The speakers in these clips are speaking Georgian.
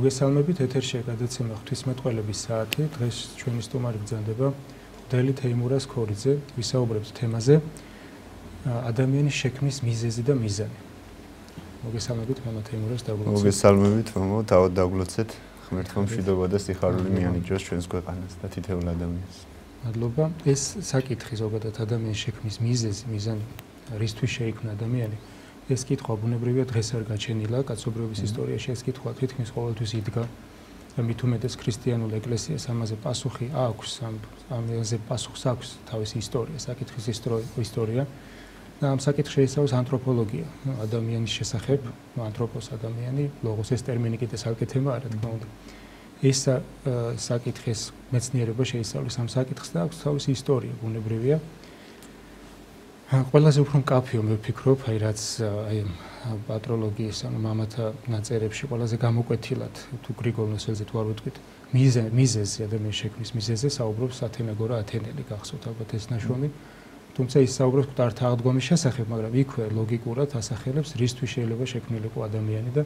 მოგესალმებით, ეთერშია გადაცემა ღვთისმეტყველების საათი. დღეს ჩვენი სტუმარი გრძანდება დელი თეიმურას ქორიძე, ვისაუბრებთ თემაზე ადამიანის შექმნის მიზეზი და მიზანი. მოგესალმებით, მამა თეიმურას დაგულოცეთ. მოგესალმებით, მამა, თავად დაგულოცეთ. ღმერთმა მშვიდობა და სიხარული მიანიჭოს ჩვენს ქვეყანას და თითოეულ ადამიანს. მადლობა. ეს საკითხი ზოგადად ადამიანის შექმნის მიზეზი, მიზანი, რისთვის შეიქმნა ადამიანი? ეს კითხვა ბუნებრივია დღეს არ გაჩენილა კაცობრიობის ისტორიაში ეს კითხვა თითქმის ყოველთვის იდგა და მით უმეტეს ქრისტიანულ ეკლესიას ამაზე პასუხი აქვს ამაზე პასუხს აქვს თავისი ისტორია საკითხის ისტორია და ამ საკითხს შეიცავს ანთროპოლოგია ადამიანის შესახებ ანთროპოს ადამიანი ლოგოს ეს ტერმინი კიდე საერთოდ თემაა რა თქმა უნდა ეს საკითხის მეცნიერება შეისწავლის ამ საკითხს და აქვს თავისი ისტორია ბუნებრივია ყველაზე უფრო მკაფიო მე ვფიქრობ, აი რაც აი პატროლოგიის ანუ მამათა ნაწერებში ყველაზე გამოკვეთილად თუ გრიგოლ ნოსელზე თუ არ ვიტყვით მიზეზი ადამიანის შექმნის მიზეზზე საუბრობს ათენაგორა ათენელი გახსოვთ ალბათ ეს ნაშრომი თუმცა ის საუბრობს მკვდართა აღდგომის შესახებ მაგრამ იქვე ლოგიკურად ასახელებს რისთვის შეიძლება შექმნილიყო ადამიანი და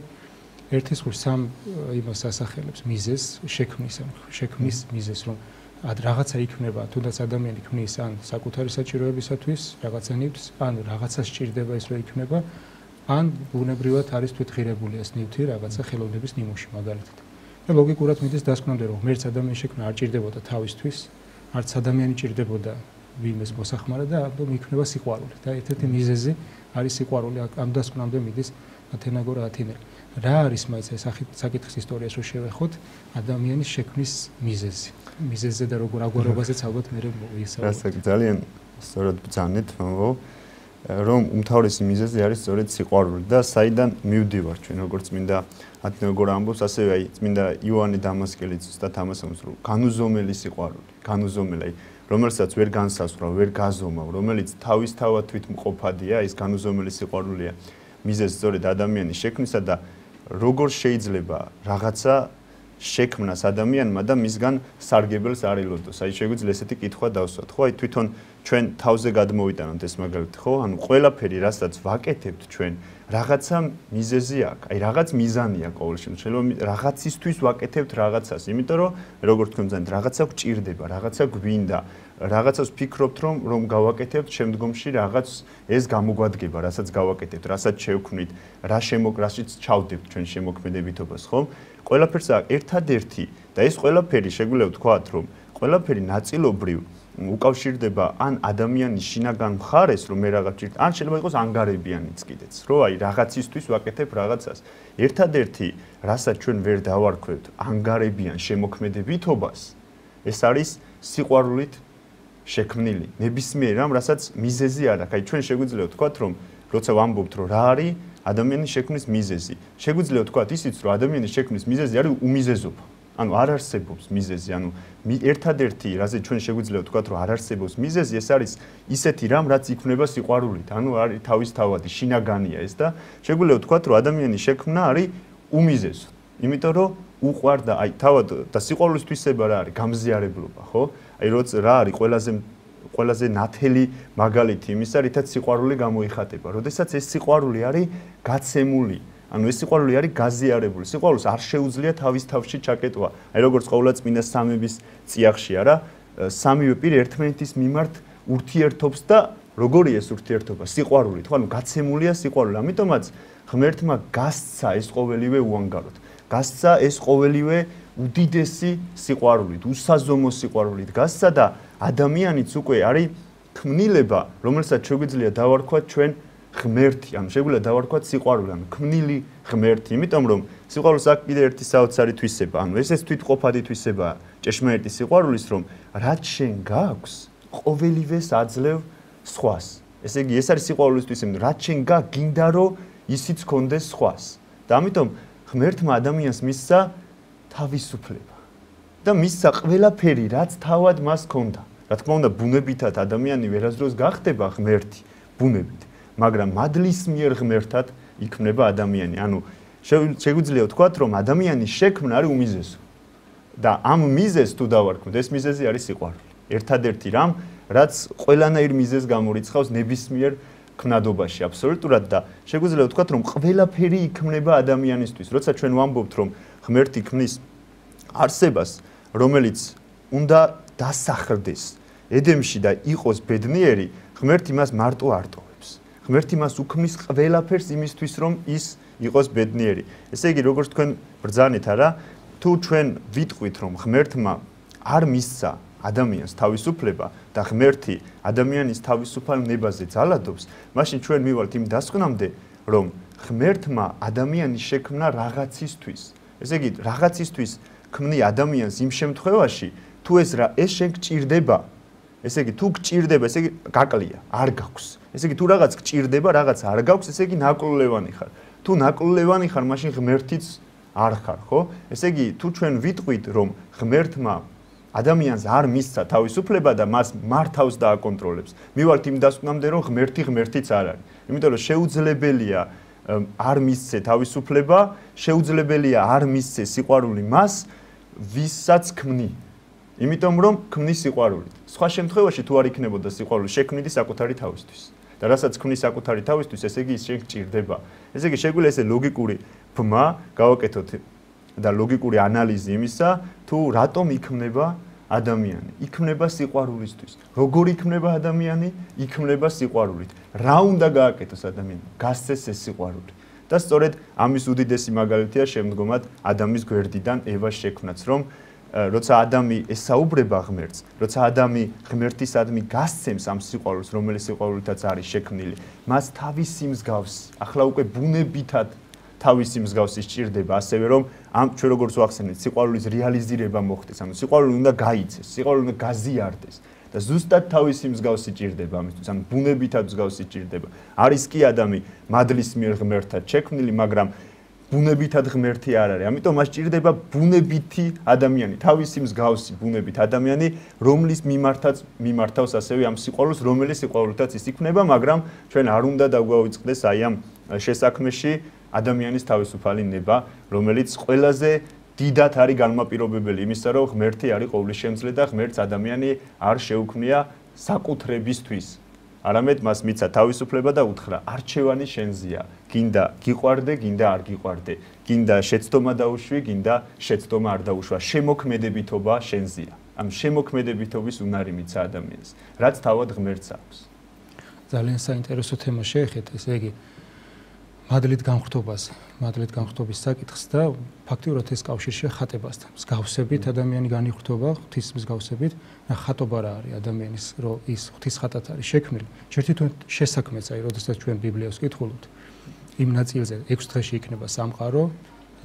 ერთის ხუს სამ იმას ასახელებს მიზეზს შექმნის მიზეზს რომ რაღაცა იქნება, თუნდაც ადამიანი ქმნის ან საკუთარი საჭიროებისათვის, რაღაცა ნივთს, ან რაღაცა სჭირდება ის რომ იქნება, ან ბუნებრივად არის თვითღირებული ეს ნივთი რაღაცა ხელოვნების ნიმუში მაგალითად. და ლოგიკურად მიდის დასკვნამდე რომ ღმერთს ადამიანის შექმნა არ ჭირდებოდა თავისთვის, არც ადამიანი ჭირდებოდა ვინმეს მოსახმარა და ამიტომ იქნება სიყვარული. და ერთ-ერთი მიზეზი არის სიყვარული, ამ დასკვნამდე მიდის ათენაგორა ათენელი. რა არის მაინც ეს საკითხის ისტორიას რო შევეხოთ ადამიანის შექმნის მიზეზი მიზეზზე და როგორ აგვარობაზეც ალბათ მე ვისაუბრებ. რასაც ძალიან სწორად ბრძანეთ, მომო, რომ უმთავრესი მიზეზი არის სწორედ სიყვარული და საიდან მივდივარ ჩვენ როგორც წმინდა ათენაგორა ამბობს, ასევე აი წმინდა იოანე დამასკელიც ზუსტად ამას ამბობს, რომ განუზომელი სიყვარული, განუზომელი, რომელსაც ვერ განსაზღვრავ, ვერ გაზომავ, რომელიც თავისთავად თვითმყოფადია, ის განუზომელი სიყვარულია. მიზეზი სწორედ ადამიანის შექმნისა და როგორ შეიძლება რაღაცა შექმნას ადამიანმა და მისგან სარგებელს არ ელოდოს. აი შეგვიძლია ესეთი კითხვა დავსვათ, ხო? აი თვითონ ჩვენ თავზე გადმოვიტანოთ ეს მაგალითი, ხო? ანუ ყველაფერი, რასაც ვაკეთებთ ჩვენ, რაღაცა მიზეზი აქვს. აი რაღაც მიზანი აქვს ყოველ შემთხვევაში. რაღაცისთვის ვაკეთებთ რაღაცას, იმიტომ რომ როგორ თქვენ ბრძანეთ, რაღაცა გჭირდება, რაღაცა გვინდა. რაღაცას ვფიქრობთ რომ გავაკეთებთ შემდგომში რაღაც ეს გამოგვადგება, რასაც გავაკეთებთ, რასაც შევქმნით, რაშიც ჩავდებთ ჩვენ შემოქმედებითობას, ხო? ყველაფერს აქვს ერთადერთი და ეს ყველაფერი შეგვიძლია ვთქვათ, რომ ყველაფერი ნაწილობრივ უკავშირდება ან ადამიანის შინაგან მხარეს, რომ მე რაღაც ვჭირთ, ან შეიძლება იყოს ანგარებიანიც კიდეც, რომ აი რაღაცისთვის ვაკეთებ რაღაცას. ერთადერთი, რასაც ჩვენ ვერ დავარქვევთ, ანგარებიან შემოქმედებითობას, ეს არის სიყვარულით შექმნილი. ნებისმიერ რამ, რასაც მიზეზი არ აქვს. აი ჩვენ შეგვიძლია ვთქვათ, რომ როცა ვამბობთ, რომ რა არის ადამიანის შექმნის მიზეზი. შეგვიძლია ვთქვათ ისიც, რომ ადამიანის შექმნის მიზეზი არის უმიზეზობა. ანუ არ არსებობს მიზეზი, ანუ ერთადერთი, რაზე ჩვენ შეგვიძლია ვთქვათ, რომ არ არსებობს მიზეზი, ეს არის ისეთი რამ, რაც იქმნება სიყვარულით. ანუ არის თავისთავადი, შინაგანია ეს და შეგვიძლია ვთქვათ, რომ ადამიანის შექმნა არის უმიზეზო. იმიტომ რომ უყვარდა, აი თავად და სიყვარულის თვისება რა არის? გამზიარებლობა, ხო? აი რა არის ყველაზე ნათელი მაგალითი იმისა, რითაც სიყვარული გამოიხატება. როდესაც ეს სიყვარული არის გაცემული, ანუ ეს სიყვარული არის გაზიარებული. სიყვარულს არ შეუძლია თავის თავში ჩაკეტვა. აი როგორც ყოვლადწმინდა სამების წიაღში არა, სამივე პირი ერთმანეთის მიმართ ურთიერთობს და როგორია ეს ურთიერთობა? სიყვარულით, ხო? ანუ გაცემულია სიყვარული. ამიტომაც ღმერთმა გასცა ეს ყოველივე უანგაროდ. გასცა ეს ყოველივე უდიდესი სიყვარულით, უსაზომო სიყვარულით გასცა და ადამიანიც უკვე არის ქმნილება, რომელსაც შეგვიძლია დავარქვათ ჩვენ ღმერთი, ანუ შეგვიძლია დავარქვათ სიყვარული, ანუ ქმნილი ღმერთი, იმიტომ რომ სიყვარულს აქვს კიდე ერთი საოცარი თვისება, ანუ ეს თვითმყოფადი თვისებაა ჭეშმარიტი სიყვარულის, რომ რაც შენ გაქვს, ყოველივეს აძლევ სხვას. ესე იგი, ეს არის სიყვარულის თვისება, რაც შენ გაქვს, გინდა რომ ისიც კონდეს სხვას. და ამიტომ ღმერთმა ადამიანს მისცა თავისუფლება და მისცა ყველაფერი, რაც თავად მას ჰქონდა. რა თქმა უნდა, ბუნებითად ადამიანი ვერასდროს გახდება ღმერთი, ბუნებით, მაგრამ მადლის მიერ ღმერთად იქმნება ადამიანი. ანუ შეგვიძლია ვთქვათ, რომ ადამიანის შექმნა არის უმიზეზო. და ამ მიზეზს თუ დავარქმევთ, ეს მიზეზი არის სიყვარული. ერთადერთი რამ, რაც ყველანაირ მიზეზს გამორიცხავს ნებისმიერ ქმნადობაში აბსოლუტურად და შეგვიძლია ვთქვათ, რომ ყველაფერი იქმნება ადამიანისთვის. როცა ჩვენ ვამბობთ, რომ ღმერთი ქმნის არსებას, რომელიც უნდა დასახლდეს ედემში და იყოს ბედნიერი, ღმერთი მას მარტო არ ტოვებს. ღმერთი მას უქმნის ყველაფერს იმისთვის, რომ ის იყოს ბედნიერი. ესე იგი, როგორც თქვენ ბრძანეთ, არა, თუ ჩვენ ვიტყვით, რომ ღმერთმა არ მისცა ადამიანს თავისუფლება და ღმერთი ადამიანის თავისუფალ ნებაზე ძალადობს, მაშინ ჩვენ მივალთ იმ დასკვნამდე, რომ ღმერთმა ადამიანის შექმნა რაღაცისთვის. ესე იგი, რაღაცისთვის ქმნი ადამიანს იმ შემთხვევაში, თუ ეს შენ გჭირდება. ესე იგი, თუ გჭირდება, ესე იგი, გაკლია, არ გაქვს. ესე იგი, თუ რაღაც გჭირდება, რაღაც არ გაქვს, ესე იგი, ნაკლულევანი ხარ. თუ ნაკლულევანი ხარ, მაშინ ღმერთიც არ ხარ, ხო? ესე იგი, თუ ჩვენ ვიტყვით, რომ ღმერთმა ადამიანს არ მისცა თავისუფლება და მას მართავს და აკონტროლებს, მივალთ იმ დასკვნამდე, რომ ღმერთიც არ არის. იმიტომ რომ შეუძლებელია არ მისცე თავისუფლება, შეუძლებელია არ მისცე სიყვარული მას, ვისაც ქმნი. იმიტომ რომ ქმნის სიყვარულით. სხვა შემთხვევაში თუ არ იქნებოდა სიყვარული, შექმნიდი საკუთარი თავისთვის. და რასაც ქმნის საკუთარი თავისთვის, ესე იგი ის შენ გჭირდება. ესე იგი შეგვიძლია ესე ლოგიკური ბმა გავაკეთოთ და ლოგიკური ანალიზი იმისა, თუ რატომ იქმნება ადამიანი. იქმნება სიყვარულისთვის. როგორ იქმნება ადამიანი? იქმნება სიყვარულით. რა უნდა გააკეთოს ადამიანი? გასცეს ეს სიყვარული. და სწორედ ამის უდიდესი მაგალითია შემდგომად ადამის გვერდიდან ევას შექმნაც, რომ როცა ადამი ესაუბრება ღმერთს, როცა ადამი ღმერთისადმი გასცემს ამ სიყვარულს, რომელიც სიყვარულითაც არის შექმნილი, მას თავისი მსგავსი, ახლა უკვე ბუნებითად თავისი მსგავსი სჭირდება, ასევე რომ ამ ჩვენ როგორც ვახსენეთ, სიყვარულის რეალიზირება მოხდეს, ანუ სიყვარული უნდა გაიცეს, სიყვარული უნდა გაზიარდეს და ზუსტად თავისი მსგავსი სჭირდება ამისთვის, ანუ ბუნებითად მსგავსი სჭირდება. არის კი ადამი მადლის მიერ ღმერთად შექმნილი, მაგრამ ბუნებითად ღმერთი არ არის. ამიტომ მას სჭირდება ბუნებითი ადამიანი, თავისი მსგავსი ბუნებით ადამიანი, რომლის მიმართავს ასევე ამ სიყვარულს, რომელიც სიყვარულითაც ის იქნება, მაგრამ ჩვენ არ უნდა დაგვაუწყდეს აი ამ შესაქმეში ადამიანის თავისუფალი ნება, რომელიც ყველაზე დიდად არის განმაპირობებელი იმისა, რომ ღმერთი არის ყოვლისშემძლე და ღმერთს ადამიანი არ შეუქმნია საკუთრებისთვის. არამედ მას მიცა თავისუფლება და უთხრა არჩევანი შენზეა. გინდა გიყვარდე, გინდა არ გიყვარდე. გინდა შეცდომა დაუშვი, გინდა შეცდომა არ დაუშვა. შემოქმედებითობა შენზეა. ამ შემოქმედებითობის უნარი მიცა ადამიანს, რაც თავად ღმერთს აქვს. ძალიან საინტერესო თემა შეეხეთ, ესე იგი მადლით განხრთობის საკითხს და ფაქტიურად ეს კავშირშია ხატებასთან. მსგავსებით ადამიანი განიხრთობა ღვთის მსგავსებით და ხატობა რა არის ადამიანის, რომ ის ღვთის ხატად არის შექმნილი. ჯერ-ჯერთ შესაქმეც, აი, როდესაც ჩვენ ბიბლიას ვკითხულობთ, იმ ნაწილზე 6 დღეში იქნება სამყარო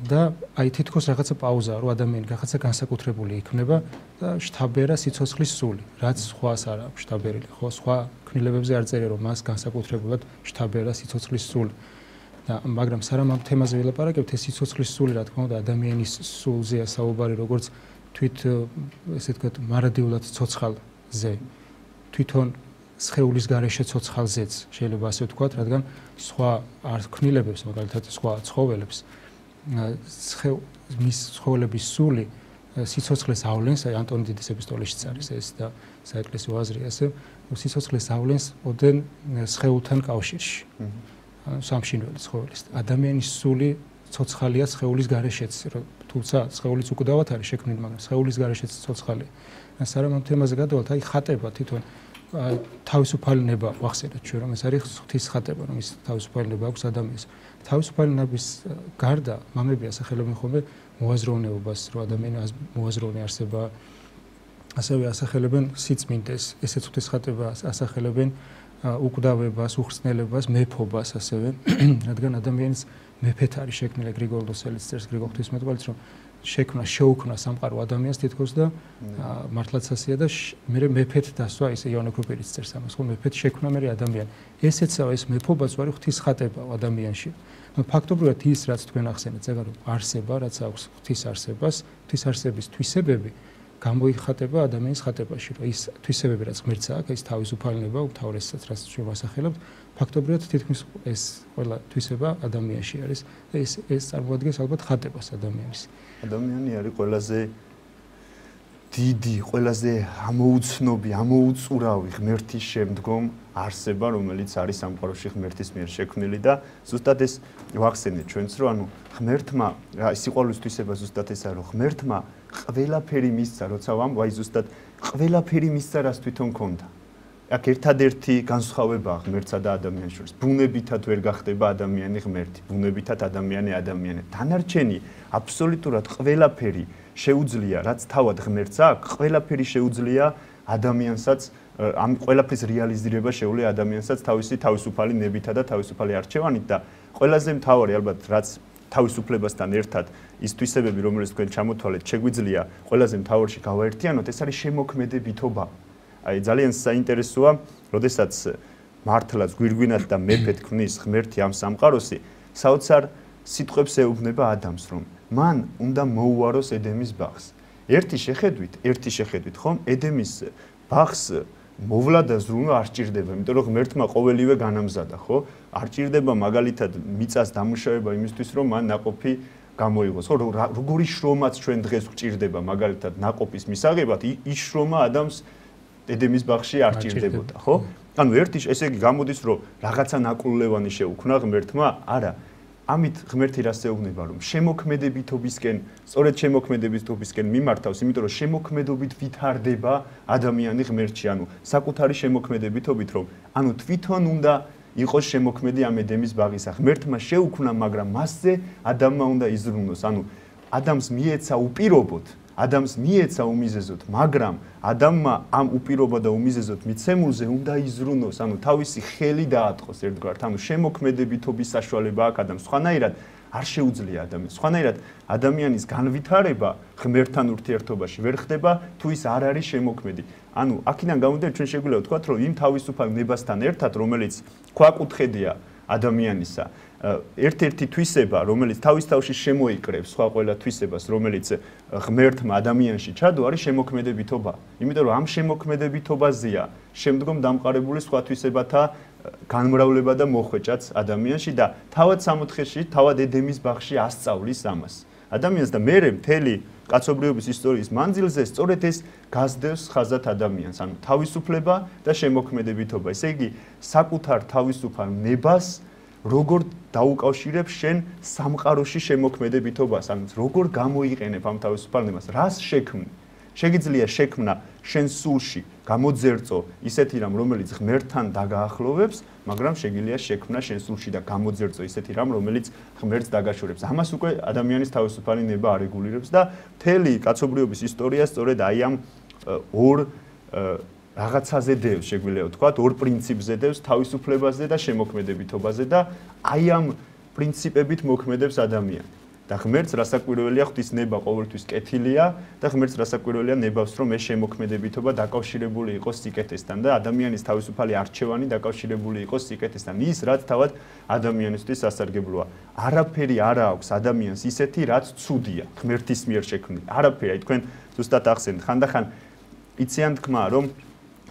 და აი თითქოს რაღაცა პაუზაა, რომ ადამიანი რაღაცა განსაკუთრებული იქნება და შთაბერა სიცოცხლის სული, რაც სხვას არ აქვს შთაბერილი, ხო, სხვა ქმნილებებზე არ წერია, რომ მას განსაკუთრებულად შთაბერა სიცოცხლის სული. მაგრამ სანამ ამ თემაზე ვილაპარაკებთ, ეს სიცოცხლის სული, რა თქმა უნდა, ადამიანის სულზეა საუბარი, როგორც თვით ესე ვთქვათ, მარადიულად ცოცხალზე, თვითონ სხეულის გარეშე ცოცხალზეც შეიძლება ასე ვთქვათ, რადგან სხვა ქმნილებებს, მაგალითად სხვა ცხოველებს, მის ცხოველების სული სიცოცხლეს ავლენს, აი ანტონი დიდის ეპისტოლეშიც არის ეს და საეკლესიო აზრი ასე, სიცოცხლეს ავლენს ოდენ სხეულთან კავშირში. სამშინველი ცხოველის. ადამიანის სული ცოცხალია სხეულის გარეშეც, თუმცა სხეულიც უკვდავად არის შექმნილი, მაგრამ სხეულის გარეშეც ცოცხალია. სანამ ამ თემაზე გადავალთ, აი ხატება თვითონ თავისუფალი ნება ვახსენეთ ჩვენ, რომ ეს არის ღვთის ხატება, რომ ის თავისუფალი ნება აქვს ადამიანს. თავისუფალი ნების გარდა მამები ასახელებენ ხოლმე მოაზროვნეობას, რომ ადამიანი მოაზროვნე არსება, ასევე ასახელებენ სიწმინდეს, ესეც ღვთის ხატება ასახელებენ უკვდავებას, უხრწნელებას, მეფობას ასევე, რადგან ადამიანის მეფეთ არის შექმნილი გრიგოლ ნოსელის წერს გრიგოლ ღვთისმეტყველიც, რომ შეუქმნა სამყარო ადამიანს თითქოს და მართლაც ასეა და მე მეფეთ დასვა, ისე იოანე ქროპირიც წერს ამას, ხო მეფეთ შექმნა მე ადამიანი. ესეცაა ეს მეფობაც ვარი ღვთის ხატება ადამიანში. ფაქტობრივად ის რაც თქვენ ახსენეთ, ზეგარო არსება, რაც აქვს ღვთის არსებას, ღვთის არსების თვისებები გამოიხატება ადამიანის ხატებაში, რომ ის თვისებები რაც ღმერთს აქვს, ის თავისუფალება, უმთავრესად რაც ჩვენ ვასახელებთ, ფაქტობრივად თითქმის ეს ყველა თვისება ადამიანში არის და ეს წარმოადგენს ალბათ ხატებას ადამიანის. ადამიანი არის ყველაზე დიდი, ყველაზე ამოუცნობი, ამოუწურავი ღმერთის შემდგომ არსება, რომელიც არის სამყაროში ღმერთის მიერ შექმნილი და ზუსტად ეს ვახსენეთ ჩვენც, რომ ანუ ღმერთმა სიყვარულის თვისება ზუსტად ესაა, რომ ღმერთმა ყველაფერი მისცა, როცა ვამბობ, ზუსტად ყველაფერი მისცა, რაც თვითონ ქონდა. აქ ერთადერთი განსხვავებაა ღმერთსა და ადამიანის შორის. ბუნებითად ვერ გახდება ადამიანი ღმერთი, ბუნებითად ადამიანი ადამიანი. დანარჩენი აბსოლუტურად ყველაფერი შეუძლია, რაც თავად ღმერთს აქვს, ყველაფერი შეუძლია ადამიანსაც ამ ყველაფრის რეალიზირება შეუძლია ადამიანსაც თავისი თავისუფალი ნებითა და თავისუფალი არჩევანით და ყველაზე მთავარი ალბათ რაც თავისუფლებასთან ერთად ის თვისებები რომელიც თქვენ ჩამოთვალეთ შეგვიძლია ყველაზე მთავარში გავაერთიანოთ ეს არის შემოქმედებითობა. აი ძალიან საინტერესოა, როდესაც მართლაც გვირგვინად და მეფედ ქმნის ღმერთი ამ სამყაროსი, საოცარ სიტყვებს ეუბნება ადამიანს, რომ მან უნდა მოუაროს ედემის ბაღს. ერთი შეხედვით, ხომ, ედემის ბაღს მოვლა და ზრუნვა არ სჭირდება, იმიტომ რომ ღმერთმა ყოველივე განამზადა, ხო? არ სჭირდება მაგალითად მიწას დამუშავება იმისთვის, რომ მან ნაყოფი გამოიღოს, ხო? როგორი შრომაც ჩვენ დღეს გვჭირდება მაგალითად ნაყოფის მისაღებად, ის შრომა ადამიანს ედემის ბაღში არ სჭირდებოდა, ხო? ანუ ესე იგი გამოდის, რომ რაღაცა ნაკლულევანი შეუქმნა ღმერთმა? არა. ამით ღმერთი რას ეუბნება, რომ შემოქმედებითობისკენ, სწორედ შემოქმედებითობისკენ მიმართავს, იმიტომ რომ შემოქმედობით ვითარდება ადამიანი ღმერთში, ანუ საკუთარი შემოქმედებითობით, რომ ანუ თვითონ უნდა იყოს შემოქმედი ამ ედემის ბაღისა. ღმერთმა შეუქმნა, მაგრამ მასზე ადამიანმა უნდა იზრუნოს, ანუ ადამიანს მიეცა უპირობოდ, ადამიანს მიეცა უმიზეზოდ, მაგრამ ადამიანმა ამ უპირობო და უმიზეზოდ მიცემულზე უნდა იზრუნოს, ანუ თავისი ხელი დაატყოს ერთგვარად, ანუ შემოქმედებითობის საშუალება აქვს ადამიანს. სხვანაირად არ შეუძლია ადამიანს. სხვანაირად ადამიანის განვითარება ღმერთთან ურთიერთობაში ვერ ხდება, თუ ის არ არის შემოქმედი. ანუ აქედან გამომდინარე ჩვენ შეგვიძლია ვთქვათ, რომ იმ თავისუფალ ნებასთან ერთად, რომელიც ქვაკუთხედია ადამიანისა, ერთ-ერთი თვისება, რომელიც თავის თავში შემოიკრებს სხვა ყველა თვისებას, რომელიც ღმერთმა ადამიანში ჩადო, არის შემოქმედებითობა. იმიტომ რომ ამ შემოქმედებითობაზეა შემდგომ დამყარებული სხვა თვისებათა განმრავლება და მოხვეჭაც ადამიანში და თავად სამოთხეში, თავად ედემის ბაღში ასწავლის ამას. ადამიანს და მერე მთელი კაცობრიობის ისტორიის მანძილზე სწორედ ეს გასდევს ხაზად ადამიანს, ანუ თავისუფლება და შემოქმედებითობა. ესე იგი, საკუთარ თავისუფალ ნებას როგორ დაუკავშირებ შენ სამყაროში შემოქმედებითობას, ანუ როგორ გამოიყენებ ამ თავისუფალ ნებას, რას შექმნი? შეგიძლია შექმნა შენ სულში გამოძერწო ისეთი რამ, რომელიც ღმერთთან დაგაახლოვებს, მაგრამ შეგიძლია შექმნა შენ სულში და გამოძერწო ისეთი რამ, რომელიც ღმერთს დაგაშორებს. ამას უკვე ადამიანის თავისუფალი ნება არეგულირებს და მთელი კაცობრიობის ისტორია სწორედ აი ამ ორ რაღაცაზე დევს, შეგვიძლია ვთქვათ, ორ პრინციპზე დევს, თავისუფლებაზე და შემოქმედებითობაზე და აი ამ პრინციპებით მოქმედებს ადამიანი. და ღმერთს რასაკვირველია ღვთის ნება ყოველთვის კეთილია და ღმერთს რასაკვირველია ნებავს, რომ ეს შემოქმედებითობა დაკავშირებული იყოს სიკეთესთან და ადამიანის თავისუფალი არჩევანი დაკავშირებული იყოს სიკეთესთან. ის რაც თავად ადამიანისთვის სასარგებლოა. არაფერი არ აქვს ადამიანს ისეთი, რაც ცუდია, ღმერთის მიერ შექმნილი. არაფერი, აი თქვენ ზუსტად ახსენეთ, ხანდახან იციან თქმა, რომ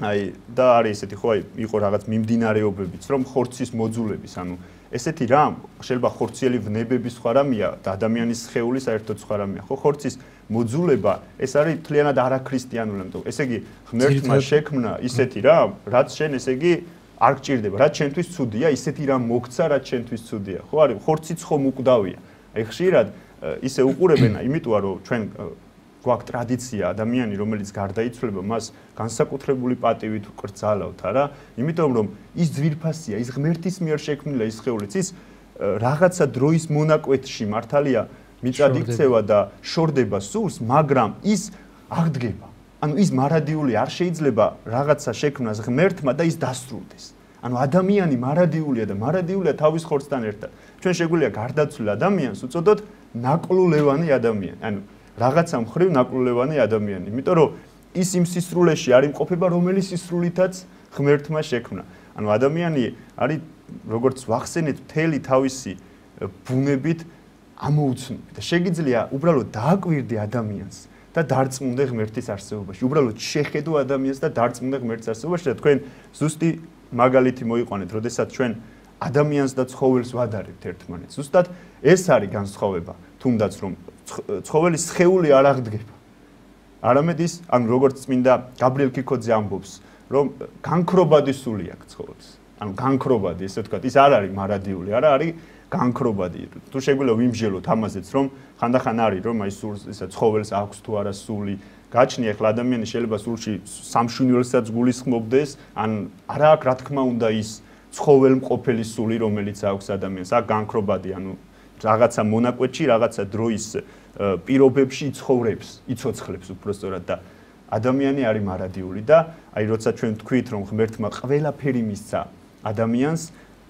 აი და არის ესეთი ხო, აი იყო რაღაც მიმდინარეობებიც, რომ ხორცის მოძულების, ანუ ესეთი რამ, შეიძლება ხორციელი ვნებები სხვა რამეა და ადამიანის სხეული საერთოდ სხვა რამეა. ხო, ხორცის მოძულება ეს არის მთლიანად არაქრისტიანული, ამიტომ ესე იგი ღმერთმა შექმნა ისეთი რამ, რაც შენ ესე იგი არ გჭირდება, რაც შენთვის ცუდია, ისეთი რამ მოგცა, რაც შენთვის ცუდია. ხო, არის ხორციც ხომ უკვდავია. აი ხშირად ისე უყურებენ, იმიტომ რომ ჩვენ გვაქვს ტრადიცია ადამიანი, რომელიც გარდაიცვლება, მას განსაკუთრებული პატივით ვკრძალავთ, არა? იმიტომ რომ ის ძვირფასია, ის ღმერთის მიერ შექმნილია ის სხეულიც, ის რაღაცა დროის მონაკვეთში მართალია მიწად იქცევა და შორდება სულს, მაგრამ ის აღდგება. ანუ ის მარადიული არ შეიძლება რაღაცა შექმნას ღმერთმა და ის დასრულდეს. ანუ ადამიანი მარადიულია და მარადიულია თავის ხორცთან ერთად. ჩვენ შეგვიძლია გარდაცვლილ ადამიანს უწოდოთ ნაკლულევანი ადამიანი. ანუ რაღაცა მხრივ ნაკლულევანი ადამიანი, იმიტომ რომ ის იმ სისრულეში არ იმყოფება, რომელიც სისრულითაც ღმერთმა შექმნა. ანუ ადამიანი არის, როგორც ვახსენეთ, მთელი თავისი ბუნებით ამოუცნობი და შეგიძლია უბრალოდ დააკვირდე ადამიანს და დარწმუნდე ღმერთის არსებობაში. უბრალოდ შეხედო ადამიანს და დარწმუნდე ღმერთის არსებობაში და თქვენ ზუსტი მაგალითი მოიყვანეთ, როდესაც ჩვენ ადამიანს და ცხოველს ვადარებთ ერთმანეთს. ზუსტად ეს არის განსხვავება, თუნდაც რომ ცხოველის სხეული არ აღდგება. არამედ ის, ანუ როგორც წმინდა გაბრიელ ქიქოძე ამბობს, რომ განქრობადი სული აქვს ცხოველს. ანუ განქრობადი, ესე ვთქვათ, ის არ არის მარადიული, არა არის განქრობადი. თუ შეგვიძლია ვიმსჯელოთ ამაზეც, რომ ხანდახან არის, რომ აი სულს ისა ცხოველს აქვს თუ არა სული, გაჩნია ახლა ადამიანი შეიძლება სულში სამშვინველსაც გულისხმობდეს, ან არა აქვს რა თქმა უნდა ის ცხოველმყოფელი სული, რომელიც აქვს ადამიანს, აქ განქრობადი, ანუ რაღაცა მონაკვეთში, რაღაცა დროის პირობებში იცხოვრებს, იცოცხლებს უბრალოდ და ადამიანი არის მარადიული და აი როცა ჩვენ ვთქვით, რომ ღმერთმა ყველაფერი მისცა ადამიანს,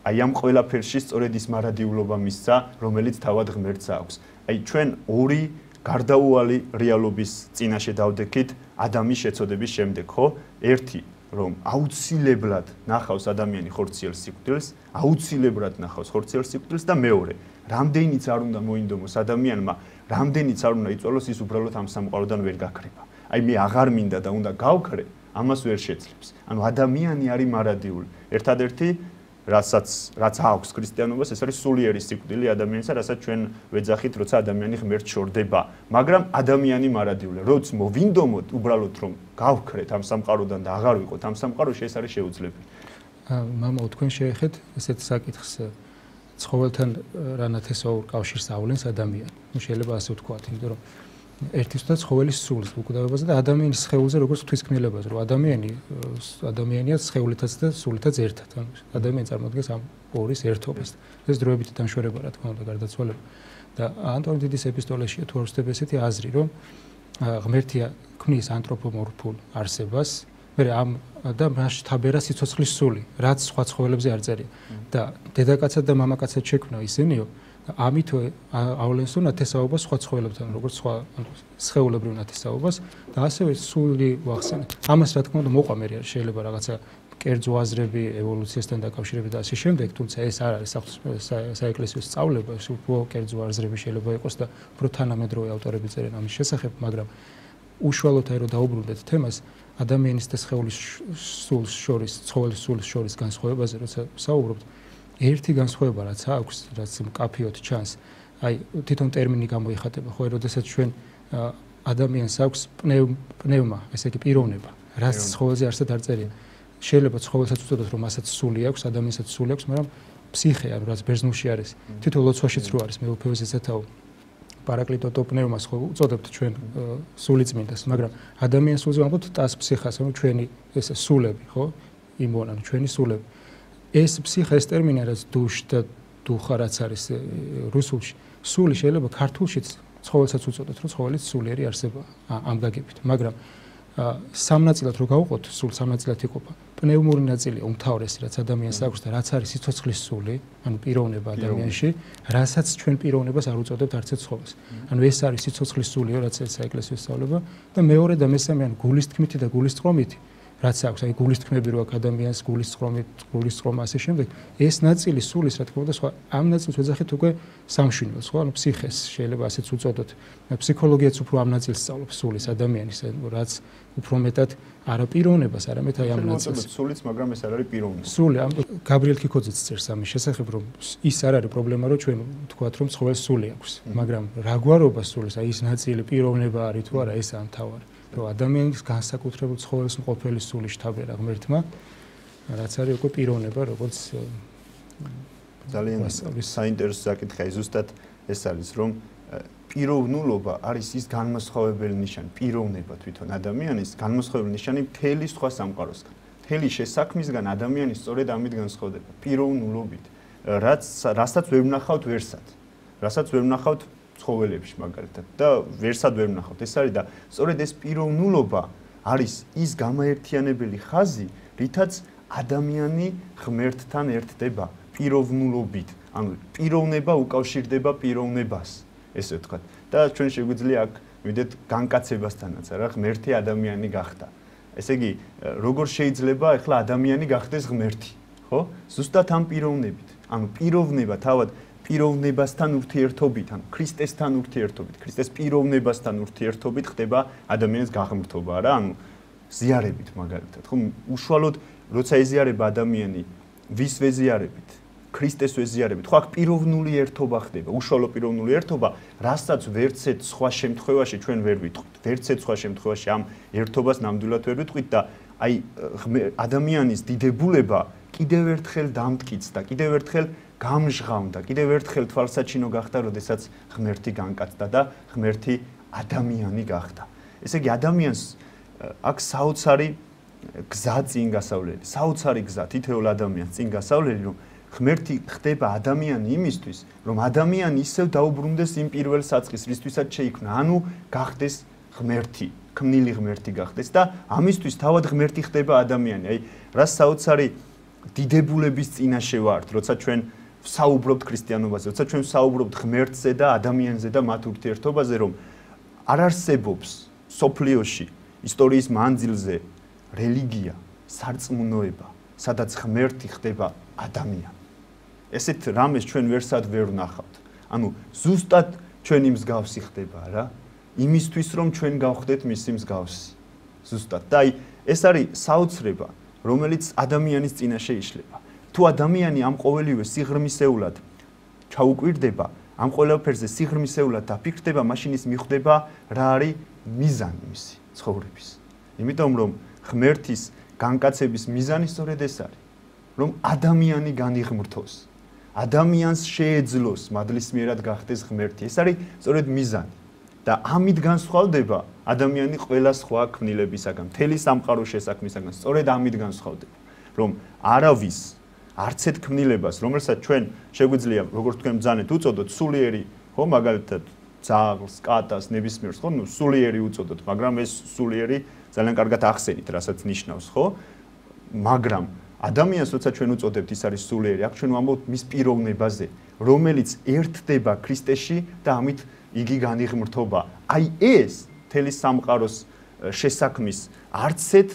აი ამ ყველაფერში სწორედ ის მარადიულობა მისცა, რომელიც თავად ღმერთს აქვს. აი ჩვენ ორი გარდაუვალი რეალობის წინაშე დავდექით ადამიანის შეცოდების შემდეგ, ხო? ერთი რომ აუცილებლად ნახავს ადამიანი ხორციელ სიკვდილს, აუცილებლად ნახავს ხორციელ სიკვდილს და მეორე, რამდენიც არ უნდა მოინდომოს ადამიანმა, რამდენიც არ უნდა იწვალოს, ის უბრალოდ ამ სამყაროდან ვერ გაქრება. აი მე აღარ მინდა და უნდა გავქრე, ამას ვერ შეძლებს. ანუ ადამიანი არის მარადიული. ერთადერთი რაც აქვს ქრისტიანობას, ეს არის სულიერი სიკვდილი ადამიანისა, რასაც ჩვენ ვეძახით, როცა ადამიანი ღმერთს შორდება. მაგრამ ადამიანი მარადიულია. როც მოვინდომოთ უბრალოდ რომ გავქრეთ ამ სამყაროდან და აღარ ვიყოთ ამ სამყაროში, ეს არის შეუძლებელი. მამაო, თქვენ შეეხეთ ესეთ საკითხს ცხოველთან რა ნათესაურ კავშირს ავლენს ადამიანი. ნუ შეიძლება ასე ვთქვათ, იმიტომ რომ ერთისთვისაც ცხოველის სულს უკვდავებაზე და ადამიანის სხეულზე როგორც ღვთისმკვლელობაზე, რომ ადამიანია სხეულითაც და სულითაც ერთად. ანუ ადამიანი წარმოადგენს ამორის ერთობას. ეს დროებით დამშვერება რა თქმა უნდა გარდაცვალება. და ანტონ დიდის ეპისტოლეშია თუ არ ვცდები ესეთი აზრი, რომ ღმერთია ქმნის ანთროპომორფულ არსებას, მე ამ და მას თაბერა სიცოცხლის სული, რაც სხვა ცხოველებზე არ წერია. და დედაკაცად და მამაკაცად შექმნა ისინიო და ამით ავლენს ნათესაობას სხვა ცხოველებთან, როგორც სხვა სხეულებრივ ნათესაობას და ასევე სული ვახსენეთ. ამას რა თქმა უნდა მოყვა მე შეიძლება რაღაცა კერძო აზრები ევოლუციასთან დაკავშირებით და ასე შემდეგ, თუმცა ეს არ არის საეკლესიო სწავლება, უფრო კერძო აზრები შეიძლება იყოს და უფრო თანამედროვე ავტორები წერენ ამის შესახებ, მაგრამ უშუალოდ აი რომ დაუბრუნდეთ თემას, ადამიანის და სხეულის სულს შორის, ცხოველის სულს შორის განსხვავებაზე, როცა საუბრობთ, ერთი განსხვავება რაც აქვს, რაც მკაფიოდ ჩანს, აი თვითონ ტერმინი გამოიხატება, ხო, როდესაც ჩვენ ადამიანს აქვს პნევმა, ესე იგი პიროვნება, რაც ცხოველზე არსად არ წერია. შეიძლება ცხოველსაც უწოდოთ, რომ მასაც სული აქვს, ადამიანსაც სული აქვს, მაგრამ ფსიხე, ანუ რაც ბერძნულში არის, თვითონ ლოცვაშიც რო არის, მე უფევეს ესეთაო პარაკლიტო პნევმას ხო უწოდებთ ჩვენ სულიწმინდას, მაგრამ ადამიანს სულზე ვამბობთ ტას ფსიხას, ანუ ჩვენი ეს სულები, ხო? იმონ, ანუ ჩვენი სულები. ეს ფსიხა ეს ტერმინი რაც დუშ და დუხა რაც არის რუსულში, სული შეიძლება ქართულშიც ცხოველსაც უწოდოთ, რომ ცხოველიც სულიერი არსებაა ამ გაგებით, მაგრამ სამნაწილად რო გავუყოთ, სულ სამნაწილად იყოფა. პნევმური ნაწილი უმთავრესი, რაც ადამიანს აქვს და რაც არის სიცოცხლის სული, ანუ პიროვნება ადამიანში, რასაც ჩვენ პიროვნებას არ უწოდებთ არც ერთ ცხოველს. ანუ ეს არის სიცოცხლის სულიო, რაც საეკლესიო სწავლება და მეორე და მესამე, ანუ გულის თქმითი და გულის წყრომითი, რაც აქვს, აი გულის თქმები რო აქვს ადამიანს, გულის წყრომა ასე შემდეგ, ეს ნაწილი სულის, რა თქმა უნდა, სხვა ამ ნაწილს ვეძახით უკვე სამშვინველს, ხო? ანუ ფსიხეს შეიძლება ასეც უწოდოთ. ფსიქოლოგიაც უფრო ამ ნაწილს სწავლობს სულის ადამიანის, რაც უფრო მეტად არა პიროვნებას, არამედ აი ამ ნაწილს. სულიც, მაგრამ ეს არ არის პიროვნება. სული, გაბრიელ ქიქოძეც წერს ამის შესახებ, რომ ის არ არის პრობლემა, რომ ჩვენ ვთქვათ, რომ ცხოველს სული აქვს, მაგრამ რა გვარობა სულის, აი ის ნაწილი პიროვნება არის თუ არა, ესაა მთავარი. რომ ადამიანის განსაკუთრებულ ცხოველს მყოფელი სული შთაბერა ღმერთმა, რაც არის უკვე პიროვნება, როგორც ძალიან საინტერესო საკითხია, ზუსტად ეს არის, რომ პიროვნულობა არის ის განმასხვავებელი ნიშანი, პიროვნება თვითონ ადამიანის განმასხვავებელი ნიშანი მთელი სხვა სამყაროსგან. მთელი შესაქმისგან ადამიანი სწორედ ამით განსხვავდება, პიროვნულობით, რასაც ვერ ვნახავთ ვერსად, რასაც ვერ ვნახავთ ცხოველებში მაგალითად და ვერსად ვერ ვნახავთ. ეს არის და სწორედ ეს პიროვნულობა არის ის გამაერთიანებელი ხაზი, რითაც ადამიანი ღმერთთან ერთდება პიროვნულობით. ანუ პიროვნება უკავშირდება პიროვნებას, ესე ვთქვათ. და ჩვენ შეგვიძლია აქ მივიდეთ განკაცებასთანაც, რა ღმერთი ადამიანი გახდა. ესე იგი, როგორ შეიძლება ახლა ადამიანი გახდეს ღმერთი, ხო? ზუსტად ამ პიროვნებით. ანუ პიროვნება თავად პიროვნებასთან ურთიერთობით, ანუ ქრისტესთან ურთიერთობით, ქრისტეს პიროვნებასთან ურთიერთობით ხდება ადამიანის გაღმრთობა, რა, ანუ ზიარებით მაგალითად, ხო, უშუალოდ როცა ეზიარება ადამიანი ვის ვეზიარებით? ქრისტეს ვეზიარებით, ხო აქ პიროვნული ერთობა ხდება, უშუალო პიროვნული ერთობა, რასაც ვერცეთ სხვა შემთხვევაში ჩვენ ვერ ვიტყვით. ვერცეთ სხვა შემთხვევაში ამ ერთობას ნამდვილად ვერ ვიტყვით და აი ადამიანის დიდებულება კიდევ ერთხელ დამტკიცდა, კიდევ ერთხელ გამჟღავნდა, კიდევ ერთხელ თვალსაჩინო გახდა, როდესაც ღმერთი განკაცდა და ღმერთი ადამიანი გახდა. ესე იგი ადამიანს აქ საოცარი გზა წინ გასავლელი, საოცარი გზა თითოეულ ადამიანს წინ გასავლელი, რომ ღმერთი ხდება ადამიანი იმისთვის, რომ ადამიანი ისევ დაუბრუნდეს იმ პირველ საწყის, რისთვისაც შეიქმნა, ანუ გახდეს ღმერთი, ქმნილი ღმერთი გახდეს და ამისთვის თავად ღმერთი ხდება ადამიანი. აი, რა საოცარი დიდებულების წინაშე ვართ, როცა ჩვენ საუბრობთ ქრისტიანობაზე, როცა ჩვენ საუბრობთ ღმერთზე და ადამიანზე და მათ ურთიერთობაზე, რომ არ არსებობს სოფლიოში, ისტორიის მანძილზე რელიგია, სარწმუნოება, სადაც ღმერთი ხდება ადამიანი. ესეთ რამეს ჩვენ ვერსად ვერ ვნახავთ. ანუ ზუსტად ჩვენი მსგავსი ხდება რა, იმისთვის რომ ჩვენ გავხდეთ მისი მსგავსი. ზუსტად. და აი ეს არის საოცრება, რომელიც ადამიანის წინაშე იშლება. თუ ადამიანი ამ ყოველივე სიღრმისეულად ჩაუკვირდება, ამ ყველაფერზე სიღრმისეულად დაფიქრდება, მაშინ ის მიხვდება რა არის მიზანი მისი ცხოვრების. იმიტომ რომ ღმერთის განკაცების მიზანი სწორედ ეს არის, რომ ადამიანი განიღმრთოს, ადამიანს შეეძლოს მადლისმიერად გახდეს ღმერთი. ეს არის სწორედ მიზანი. და ამით განსხვავდება ადამიანი ყველა სხვა ქმნილებისაგან, მთელი სამყაროს შესაქმნისაგან, სწორედ ამით განსხვავდება, რომ არავის არცეთ ქმნილებას, რომელსაც ჩვენ შეგვიძლია, როგორც თქვენ ბრძანეთ, უწოდოთ სულიერი, ხო, მაგალითად ძაღლს, კატას, ნებისმიერს, ხო, ნუ სულიერი უწოდოთ, მაგრამ ეს სულიერი ძალიან კარგად ახსენით, რასაც ნიშნავს, ხო? მაგრამ ადამიანს, როცა ჩვენ უწოდებთ, ის არის სულიერი, აქ ჩვენ ვამბობთ მის პიროვნებაზე, რომელიც ერთდება ქრისტეში და ამით იგი განიღმრთობა. აი ეს მთელი სამყაროს შესაქმნის არცეთ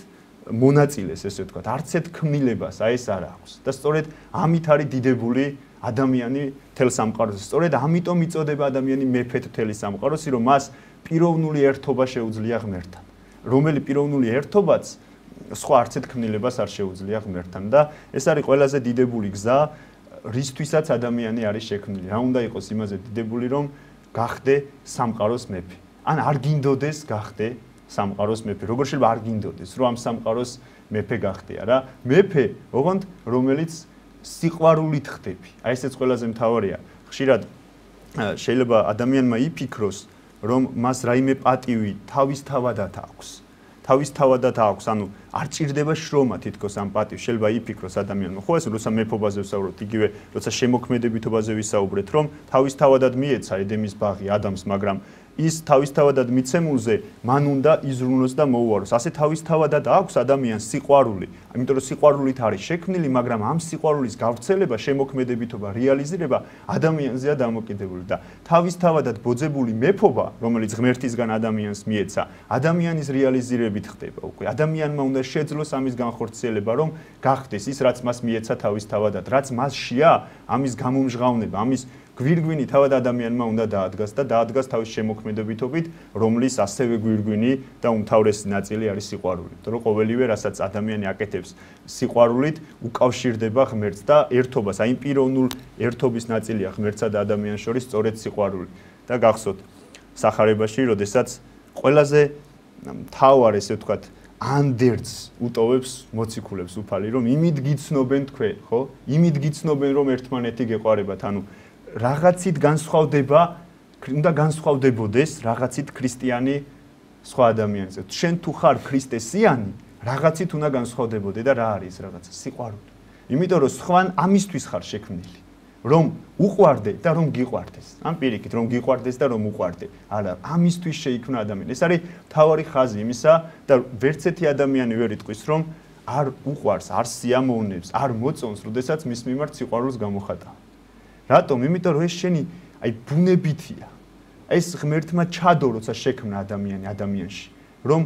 მონაწილეს, ესე ვთქვათ, არცეთ ქმნილებას, აი ეს არ აქვს. და სწორედ ამით არის დიდებული ადამიანი მთელ სამყაროზე. სწორედ ამიტომ იწოდება ადამიანი მეფედ მთელი სამყაროსი, რომ მას პიროვნული ერთობა შეუძლია ღმერთთან. რომელი პიროვნული ერთობაც სხვა არცეთ ქმნილებას არ შეუძლია ღმერთთან და ეს არის ყველაზე დიდებული გზა, რისთვისაც ადამიანი არის შექმნილი. რა უნდა იყოს იმაზე დიდებული, რომ გახდე სამყაროს მეფე. ან არ გინდოდეს გახდე სამყაროს მეფე. როგორ შეიძლება არ გინდოდეს, რომ ამ სამყაროს მეფე გახდია რა? მეფე, ოღონდ რომელიც სიყვარულით ხდები. აი ესეც ყველაზე მთავარია. ხშირად შეიძლება ადამიანმა იფიქროს, რომ მას რაიმე პატივი თავისთავადად აქვს. თავისთავადად აქვს, ანუ არ ჭირდება შრომა თითქოს ამ პატივს. შეიძლება იფიქროს ადამიანმა, ხო ეს როცა მეფობაზე ვსაუბრობთ, იგივე როცა შემოქმედებითობაზე ვისაუბრეთ, რომ თავისთავადად მიეცა ედემის ბაღი ადამიანს, მაგრამ ის თავისთავადად მიცემულზე მან უნდა იზრუნოს და მოუაროს. ასე თავისთავადად აქვს ადამიანს სიყვარული. იმიტომ რომ სიყვარულით არის შექმნილი, მაგრამ ამ სიყვარულის გავრცელება, შემოქმედებითობა, რეალიზირება ადამიანზეა დამოკიდებული და თავისთავადად ბოძებული მეფობა, რომელიც ღმერთისგან ადამიანს მიეცა, ადამიანის რეალიზირებით ხდება უკვე. ადამიანმა უნდა შეძლოს ამის განხორციელება, რომ გახდეს ის, რაც მას მიეცა თავისთავადად, რაც მასშია, ამის გამომჟღავნება, ამის გვირგვინი თავად ადამიანმა უნდა დაადგას და დაადგას თავის შემოქმედებითობით, რომლის ასევე გვირგვინი და უმთავრესი ნაწილი არის სიყვარული. იმიტომ რომ ყოველივე, რასაც ადამიანი აკეთებს სიყვარულით, უკავშირდება ღმერთს და ერთობას, აი პიროვნულ ერთობის ნაწილია ღმერთსა და ადამიანს შორის სწორედ სიყვარული. და გახსოვთ სახარებაში, როდესაც ყველაზე მთავარ, ესე ვთქვათ, ანდერძს უტოვებს მოციქულებს უფალი, რომ იმით გიცნობენ თქვენ, ხო? იმით გიცნობენ, რომ ერთმანეთი გეყვარებათ, ანუ რაღაცით განსხვავდება, უნდა განსხვავდებოდეს რაღაცით ქრისტიანი სხვა ადამიანზე. შენ თუ ხარ ქრისტესიანი, რაღაცით უნდა განსხვავდებოდე და რა არის ეს რაღაცა? სიყვარული. იმიტომ რომ სხვან ამისთვის ხარ შექმნილი, რომ უყვარდე და რომ გიყვარდეს. ამ პირიქით, რომ გიყვარდეს და რომ უყვარდე. არა, ამისთვის შეიქმნა ადამიანი. ეს არის მთავარი ხაზი იმისა და ვერც ერთი ადამიანი ვერ იტყვის, რომ არ უყვარს, არ სიამოვნებს, არ მოწონს, როდესაც მის მიმართ სიყვარულს გამოხატავ. რატომ? იმიტომ რომ ეს შენი აი ბუნებითია. ეს ღმერთმა ჩადო, როცა შექმნა ადამიანი ადამიანში, რომ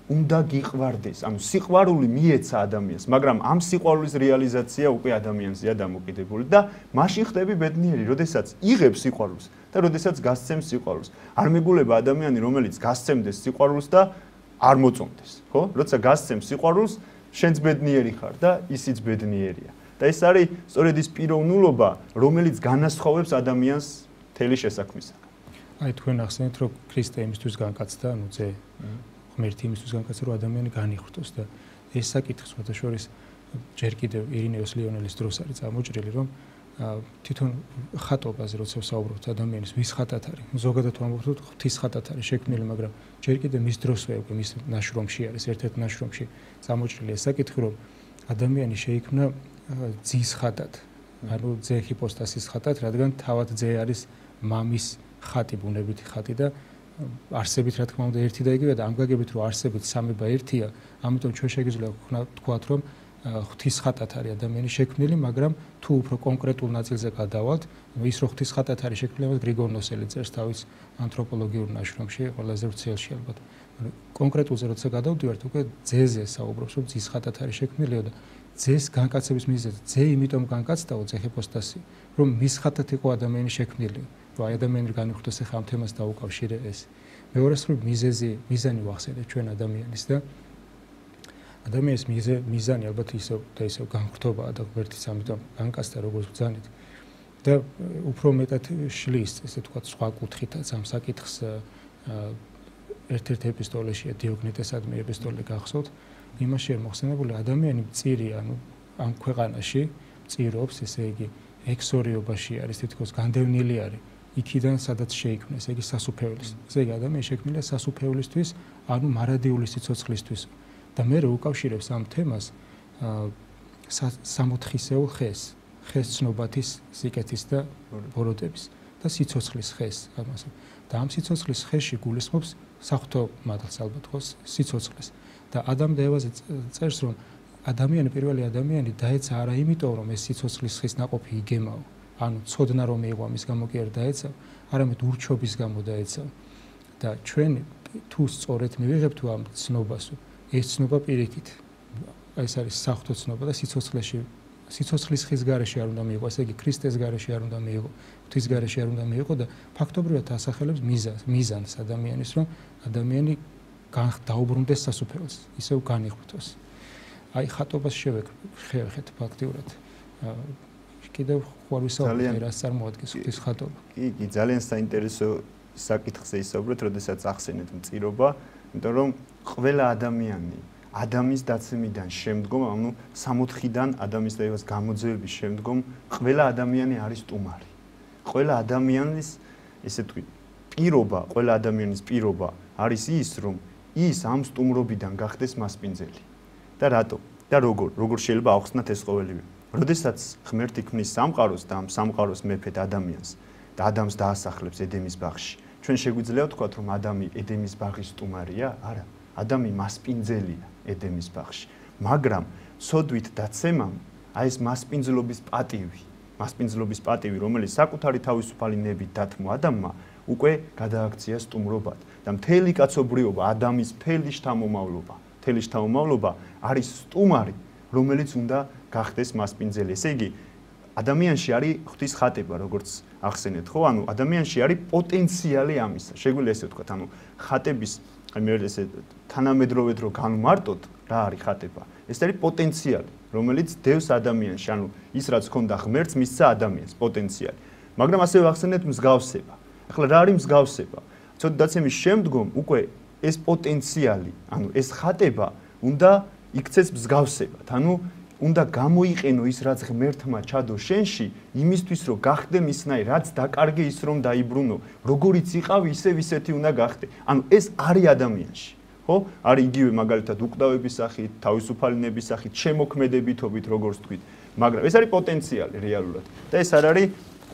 უნდა გიყვარდეს. ანუ სიყვარული მიეცა ადამიანს, მაგრამ ამ სიყვარულის რეალიზაცია უკვე ადამიანზეა დამოკიდებული და მაშინ ხდები ბედნიერი, როდესაც იღებს სიყვარულს და როდესაც გასცემს სიყვარულს. არ მეგულება ადამიანი, რომელიც გასცემდეს სიყვარულს და არ მოწონდეს, ხო? როცა გასცემს სიყვარულს, შენც ბედნიერი ხარ და ისიც ბედნიერია. და ეს არის სწორედ ის პიროვნულობა, რომელიც განასხვავებს ადამიანს მთელი შესაქმისაგან. აი თქვენ ახსენეთ, რომ ქრისტე იმისთვის განკაცდა, ანუ ძე ღმერთი იმისთვის განკაცდა, რომ ადამიანი განიხრთოს და ეს საკითხი სხვადასხვა ჯერ კიდევ ირინეოს ლიონელის დროს არის წარმოჭრილი, რომ თვითონ ხატობაზე როცა ვსაუბრობთ ადამიანის ვის ხატად არის, ზოგადად ვამბობთ, რომ ღვთის ხატად არის შექმნილი, მაგრამ ჯერ კიდევ მის დროსვე უკვე მის ნაშრომში არის, ერთ-ერთ ნაშრომში წარმოჭრილი ეს საკითხი, რომ ადამიანი შეიქმნა ძის ხატად, ანუ ძე ჰიპოსტასის ხატად, რადგან თავად ძე არის მამის ხატი, ბუნებითი ხატი და არსებით რა თქმა უნდა ერთი და იგივეა და ამ გაგებით რომ არსებით სამება ერთია, ამიტომ ჩვენ შეგვიძლია ვთქვათ, რომ ღვთის ხატად არის ადამიანი შექმნილი, მაგრამ თუ უფრო კონკრეტულ ნაწილზე გადავალთ, ის რო ღვთის ხატად არის შექმნილი, ამას გრიგორ ნოსელი წერს თავის ანთროპოლოგიურ ნაშრომში, ყველაზე ვრცელში ალბათ. კონკრეტულზე როცა გადავდივართ, უკვე ძეზე საუბრობს, რომ ძის ხატად არის შექმნილიო და ძეს განკაცების მიზეზი, ძე იმიტომ განკაცდაო ძე ჰიპოსტასი, რომ მის ხატად იყო ადამიანი შექმნილი, რომ აი ადამიანი განიხრთოს ახლა ამ თემას დაუკავშირე ეს. მეორესწორ მიზანი ვახსენეთ ჩვენ ადამიანის და ადამიანის მიზანი ალბათ ისევ განხრთობაა და ღმერთიც ამიტომ განკაცდა როგორც ბრძანით და უფრო მეტად შლის, ესე ვთქვათ, სხვა კუთხითაც ამ საკითხს ერთ-ერთ ეპისტოლეშია დიოგნეტესადმი ეპისტოლე გახსოვთ, იმაში არის მოხსენებული ადამიანი მწირია, ანუ ამ ქვეყანაში მწირობს, ესე იგი ექსორიობაში არის, თითქოს განდევნილი არის იქიდან სადაც შეიქმნა, ესე იგი სასუფეველის. ესე იგი ადამიანი შექმნილია სასუფეველისთვის, ანუ მარადიული სიცოცხლისთვის. და მე უკავშირებს ამ თემას სამოთხისეულ ხეს ცნობათის, სიკეთის და ბოროტების და სიცოცხლის ხეს ამასო. და ამ სიცოცხლის ხეში გულისხმობს საღვთო მადლს ალბათ ხო სიცოცხლეს. და ადამ და ევაზე წერს, რომ პირველი ადამიანი დაეცა არა იმიტომ, რომ ეს სიცოცხლის ხის ნაყოფი იგემაო, ანუ ცოდნა რომ მიიღო ამის გამო კი არ დაეცა, არამედ ურჩობის გამო დაეცა. და ჩვენ თუ სწორედ მივიღებთ ამ ცნობასო, ეს ცნობა პირიქით, ეს არის საღვთო ცნობა და სიცოცხლის ხის გარეშე არ უნდა მიიღო, ესე იგი ქრისტეს გარეშე არ უნდა მიიღო, ღვთის გარეშე არ უნდა მიიღო და ფაქტობრივად ასახელებს მიზანს ადამიანის, რომ ადამიანი დაუბრუნდეს სასუფეველს, ისევ განიხრთოს. აი ხატობას შევეხეთ ფაქტიურად. კიდევ ხوار ვისაუბრეთ რას წარმოადგენს ღვთის ხატობა. კი, ძალიან საინტერესო საკითხზე ისაუბრეთ, როდესაც ახსენეთ მწირობა, იმიტომ რომ ყველა ადამიანი ადამის დაცემიდან შემდგომ, ანუ 60-დან ადამიანის და ევას გამოძევების შემდგომ, ყველა ადამიანი არის სტუმარი. ყველა ადამიანის, ესე ვთქვი, პირობა, ყველა ადამიანის პირობა არის ის, რომ ის ამ სტუმრობიდან გახდეს მასპინძელი. და რატო? და როგორ შეიძლება ახსნათ ეს ყოველივე? როდესაც ღმერთი ქმნის სამყაროს და ამ სამყაროს მეფედ ადამიანს და ადამიანს დაასახლებს ედემის ბაღში, ჩვენ შეგვიძლია ვთქვათ, რომ ადამი ედემის ბაღის სტუმარია? არა. ადამი მასპინძელია ედემის ბაღში. მაგრამ სოდვით დაცემამ, აი ეს მასპინძლობის პატივი, რომელიც საკუთარი თავისუფალი ნებით დათმო ადამმა, უკვე გადააქცია სტუმრობად და მთელი კაცობრიობა, ადამის მთელი შთამომავლობა არის სტუმარი, რომელიც უნდა გახდეს მასპინძელი. ესე იგი, ადამიანში არის ღვთის ხატება, როგორც ახსენეთ, ხო? ანუ ადამიანში არის პოტენციალი ამისა. შეგვიძლია ესე ვთქვათ, ანუ ხატების, მე ესე თანამედროვედ რო განმარტოთ, რა არის ხატება? ეს არის პოტენციალი, რომელიც დევს ადამიანში, ანუ ის რაც ჰქონდა ღმერთს, მისცა ადამიანს პოტენციალი. მაგრამ ასევე ახსენეთ მსგავსება. ახლა რა არის მსგავსება? ცოტა დაცემის შემდგომ უკვე ეს პოტენციალი, ანუ ეს ხატება უნდა იქცეს მსგავსებად. ანუ უნდა გამოიყენო ის რაც ღმერთმა ჩადო შენში, იმისთვის რომ გახდე მისნაირი, რაც დაკარგე ის რომ დაიბრუნო, როგორიც იყავი, ისეთი უნდა გახდე. ანუ ეს არის ადამიანში. ხო? არის იგივე მაგალითად უკვდავების სახით, თავისუფალი ნების სახით, შემოქმედებითობით, როგორც თქვით. მაგრამ ეს არის პოტენციალი რეალურად. და ეს არ არის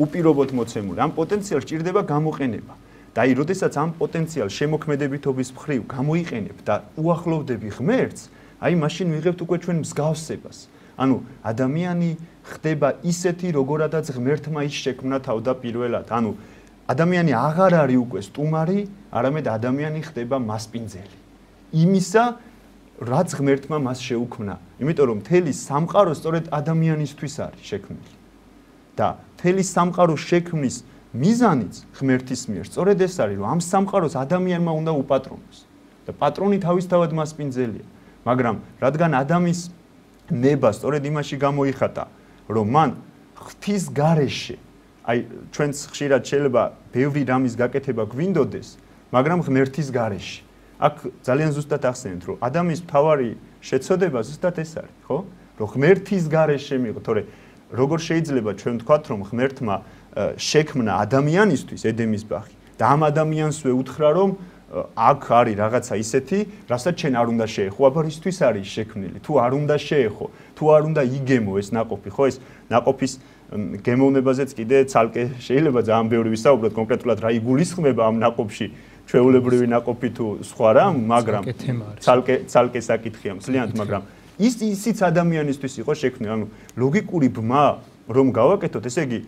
უპირობოდ მოცემული. ამ პოტენციალს ჭირდება გამოყენება. და აი, როდესაც ამ პოტენციალს შემოქმედებითობის მხრივ გამოიყენებ და უახლოვდები ღმერთს, აი მაშინ ვიღებთ უკვე ჩვენ მსგავსებას. ანუ ადამიანი ხდება ისეთი, როგორადაც ღმერთმა ის შექმნა თავდაპირველად. ანუ ადამიანი აღარ არის უკვე სტუმარი, არამედ ადამიანი ხდება მასპინძელი. იმისა, რაც ღმერთმა მას შეუქმნა. იმიტომ რომ მთელი სამყარო სწორედ ადამიანისთვის არის შექმნილი. და მთელი სამყაროს შექმნის მიზანიც ღმერთის მიერ სწორედ ეს არის, რომ ამ სამყაროს ადამიანმა უნდა უპატრონოს. და პატრონი თავისთავად მასპინძელია. მაგრამ რადგან ადამის ნება სწორედ იმაში გამოიხატა, რომ მან ღვთის გარეშე აი ჩვენც ხშირად შეიძლება ბევრი რამის გაკეთება გვინდოდეს, მაგრამ ღმერთის გარეშე. აქ ძალიან ზუსტად ახსენეთ, რომ ადამიანის მთავარი შეცოდება ზუსტად ეს არის, ხო? რომ ღმერთის გარეშე მიიღო, თორე როგორ შეიძლება ჩვენ ვთქვათ, რომ ღმერთმა შექმნა ადამიანისთვის ედემის ბაღი და ამ ადამიანსვე უთხრა, რომ აქ არის რაღაცა ისეთი, რასაც ჩვენ არ უნდა შეეხო, აბა რისთვის არის შექმნილი? თუ არ უნდა შეეხო, თუ არ უნდა იგემო ეს ნაყოფი, ხო ეს ნაყოფის გემოვნებაზეც კიდე ცალკე შეიძლება ძალიან ბევრი ვისაუბროთ, კონკრეტულად რა იგულისხმება ამ ნაყოფში, ჩვეულებრივი ნაყოფი თუ სხვა რამ, მაგრამ ცალკე საკითხია მთლიანად, მაგრამ ისიც ადამიანისთვის იყო შექმნილი, ანუ ლოგიკური ბმა რომ გავაკეთოთ, ესე იგი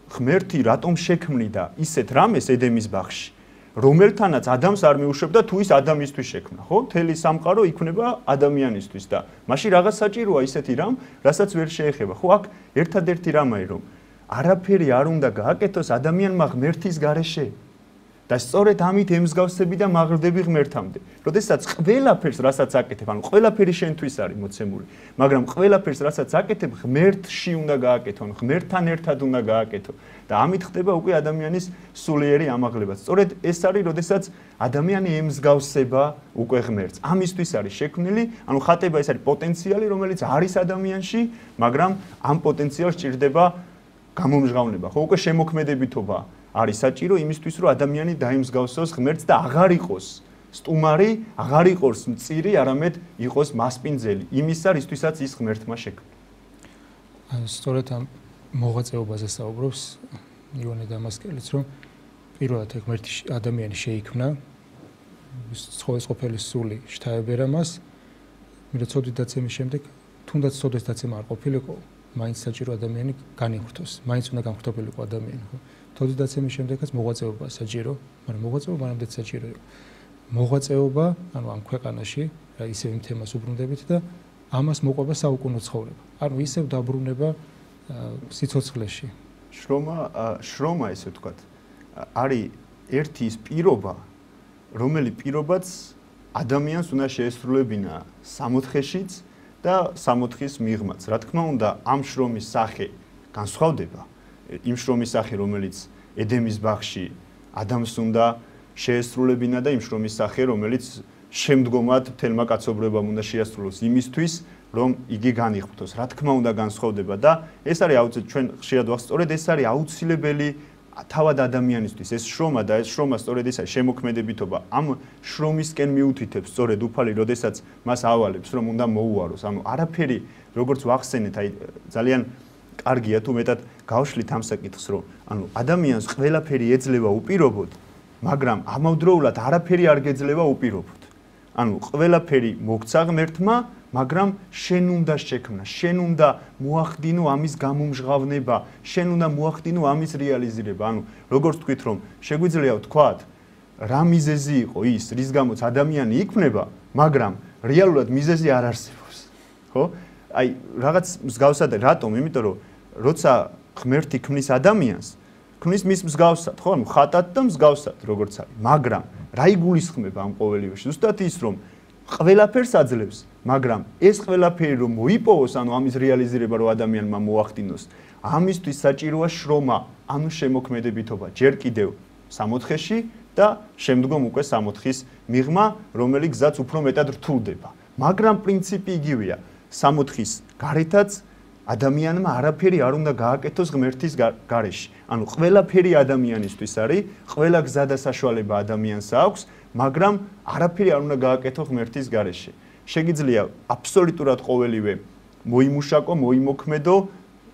ღმერთი რატომ შექმნიდა ისეთ რამეს ედემის ბაღში, რომელთანაც ადამიანს არ მიუშვებდა თუ ის ადამიანისთვის შექმნა, ხო? მთელი სამყარო იქნება ადამიანისთვის და მაშინ რაღაც საჭიროა ისეთი რამ, რასაც ვერ შეეხება. ხო, აქ ერთადერთი რამაა, რომ არაფერი არ უნდა გააკეთოს ადამიანმა ღმერთის გარეშე. და სწორედ ამით ემსგავსები და მაღლდები ღმერთამდე. როდესაც ყველაფერს, რასაც აკეთებ, ანუ ყველაფერი შენთვის არის მოცემული, მაგრამ ყველაფერს, რასაც აკეთებ, ღმერთში უნდა გააკეთო, ღმერთთან ერთად უნდა გააკეთო. და ამით ხდება უკვე ადამიანის სულიერი ამაღლება. სწორედ ეს არის, როდესაც ადამიანი ემსგავსება უკვე ღმერთს. ამისთვის არის შექმნილი, ანუ ხატება ეს არის პოტენციალი, რომელიც არის ადამიანში, მაგრამ ამ პოტენციალს სჭირდება გამომჟღავნება. ხო, უკვე შემოქმედებითობა არის საჭირო იმისთვის, რომ ადამიანი დაიმსგავსოს ღმერთს და აღარ იყოს სტუმარი, აღარ იყოს მწირი, არამედ იყოს მასპინძელი. იმისა, რისთვისაც ის ღმერთმა შექმნა. სწორედ ამ მოღვაწეობაზე საუბრობს იოანე დამასკელიც, რომ პირველად ღმერთი ადამიანი შეიქმნა, ცხოველსყოფელის სული შთაებერა მას, მიროცოდით დაცემის შემდეგ, თუნდაც ცოდეს დაცემა არ ყოფილიყო, მაინც საჭირო ადამიანი განიხრთოს, მაინც უნდა განხრთობილიყო ადამიანი, ხო? თოდის დაცემის შემდეგაც მოღვაწეობა საჭირო, მაგრამ მოღვაწეობა მანამდეც საჭირო იყო. მოღვაწეობა, ანუ ამ ქვეყანაში, რა ისევ იმ თემას უბრუნდებით და ამას მოყვება საუკუნო ცხოვრება. ანუ ისევ დაბრუნება სიცოცხლეში. შრომა ესე ვთქვათ, არის ერთი ის პირობა, რომელი პირობაც ადამიანს უნდა შეესრულებინა სამოთხეშიც და სამოთხის მიღმაც. რა თქმა უნდა, ამ შრომის სახე განსხვავდება. იმ შრომის სახე, რომელიც ედემის ბაღში ადამიანს უნდა შეესრულებინა და იმ შრომის სახე, რომელიც შემდგომად მთელმა კაცობრიობამ უნდა შეასრულოს იმისთვის, რომ იგი განიხრთოს. რა თქმა უნდა, განსხვავდება და ეს არის აუცილებელი, ჩვენ ხშირად ვახსენებთ, სწორედ ეს არის აუცილებელი თავად ადამიანისთვის. ეს შრომა და ეს შრომა სწორედ ეს არის შემოქმედებითობა. ამ შრომისკენ მიუთითებს სწორედ უფალი, როდესაც მას ავალებს, რომ უნდა მოუაროს. ანუ არაფერი, როგორც ვახსენეთ, აი ძალიან კარგია თუ მეტად გავშლით ამ საკითხს, რომ ანუ ადამიანს ყველაფერი ეძლევა უპირობოდ, მაგრამ ამავდროულად არაფერი არ გეძლევა უპირობოდ. ანუ ყველაფერი მოგცა ღმერთმა, მაგრამ შენ უნდა შექმნა, შენ უნდა მოახდინო ამის გამომჟღავნება, შენ უნდა მოახდინო ამის რეალიზირება. ანუ როგორც თქვით, რომ შეგვიძლია ვთქვათ, რა მიზეზი იყო ის, რის გამოც ადამიანი იქმნება, მაგრამ რეალურად მიზეზი არ არსებობს. ხო? აი რაღაც მსგავსად, რატომ? იმიტომ რომ როცა ღმერთი ქმნის ადამიანს, ქმნის მის მსგავსად, ხო? ანუ ხატად და მსგავსად, როგორც არის. მაგრამ რა იგულისხმება ამ ყოველივეში? ზუსტად ის, რომ ყველაფერს აძლევს, მაგრამ ეს ყველაფერი რომ მოიპოვოს, ანუ ამის რეალიზირება რომ ადამიანმა მოახდინოს, ამისთვის საჭიროა შრომა, ანუ შემოქმედებითობა, ჯერ კიდევ სამოთხეში და შემდგომ უკვე სამოთხის მიღმა, რომელიც გზაც უფრო მეტად რთულდება. მაგრამ პრინციპი იგივეა. სამოთხის გარეთაც ადამიანმა არაფერი არ უნდა გააკეთოს ღმერთის გარეშე. ანუ ყველაფერი ადამიანისთვის არის, ყველა გზა და საშუალება ადამიანს აქვს, მაგრამ არაფერი არ უნდა გააკეთო ღმერთის გარეშე. შეგიძლია აბსოლუტურად ყოველივე მოიმუშაკო, მოიმოქმედო,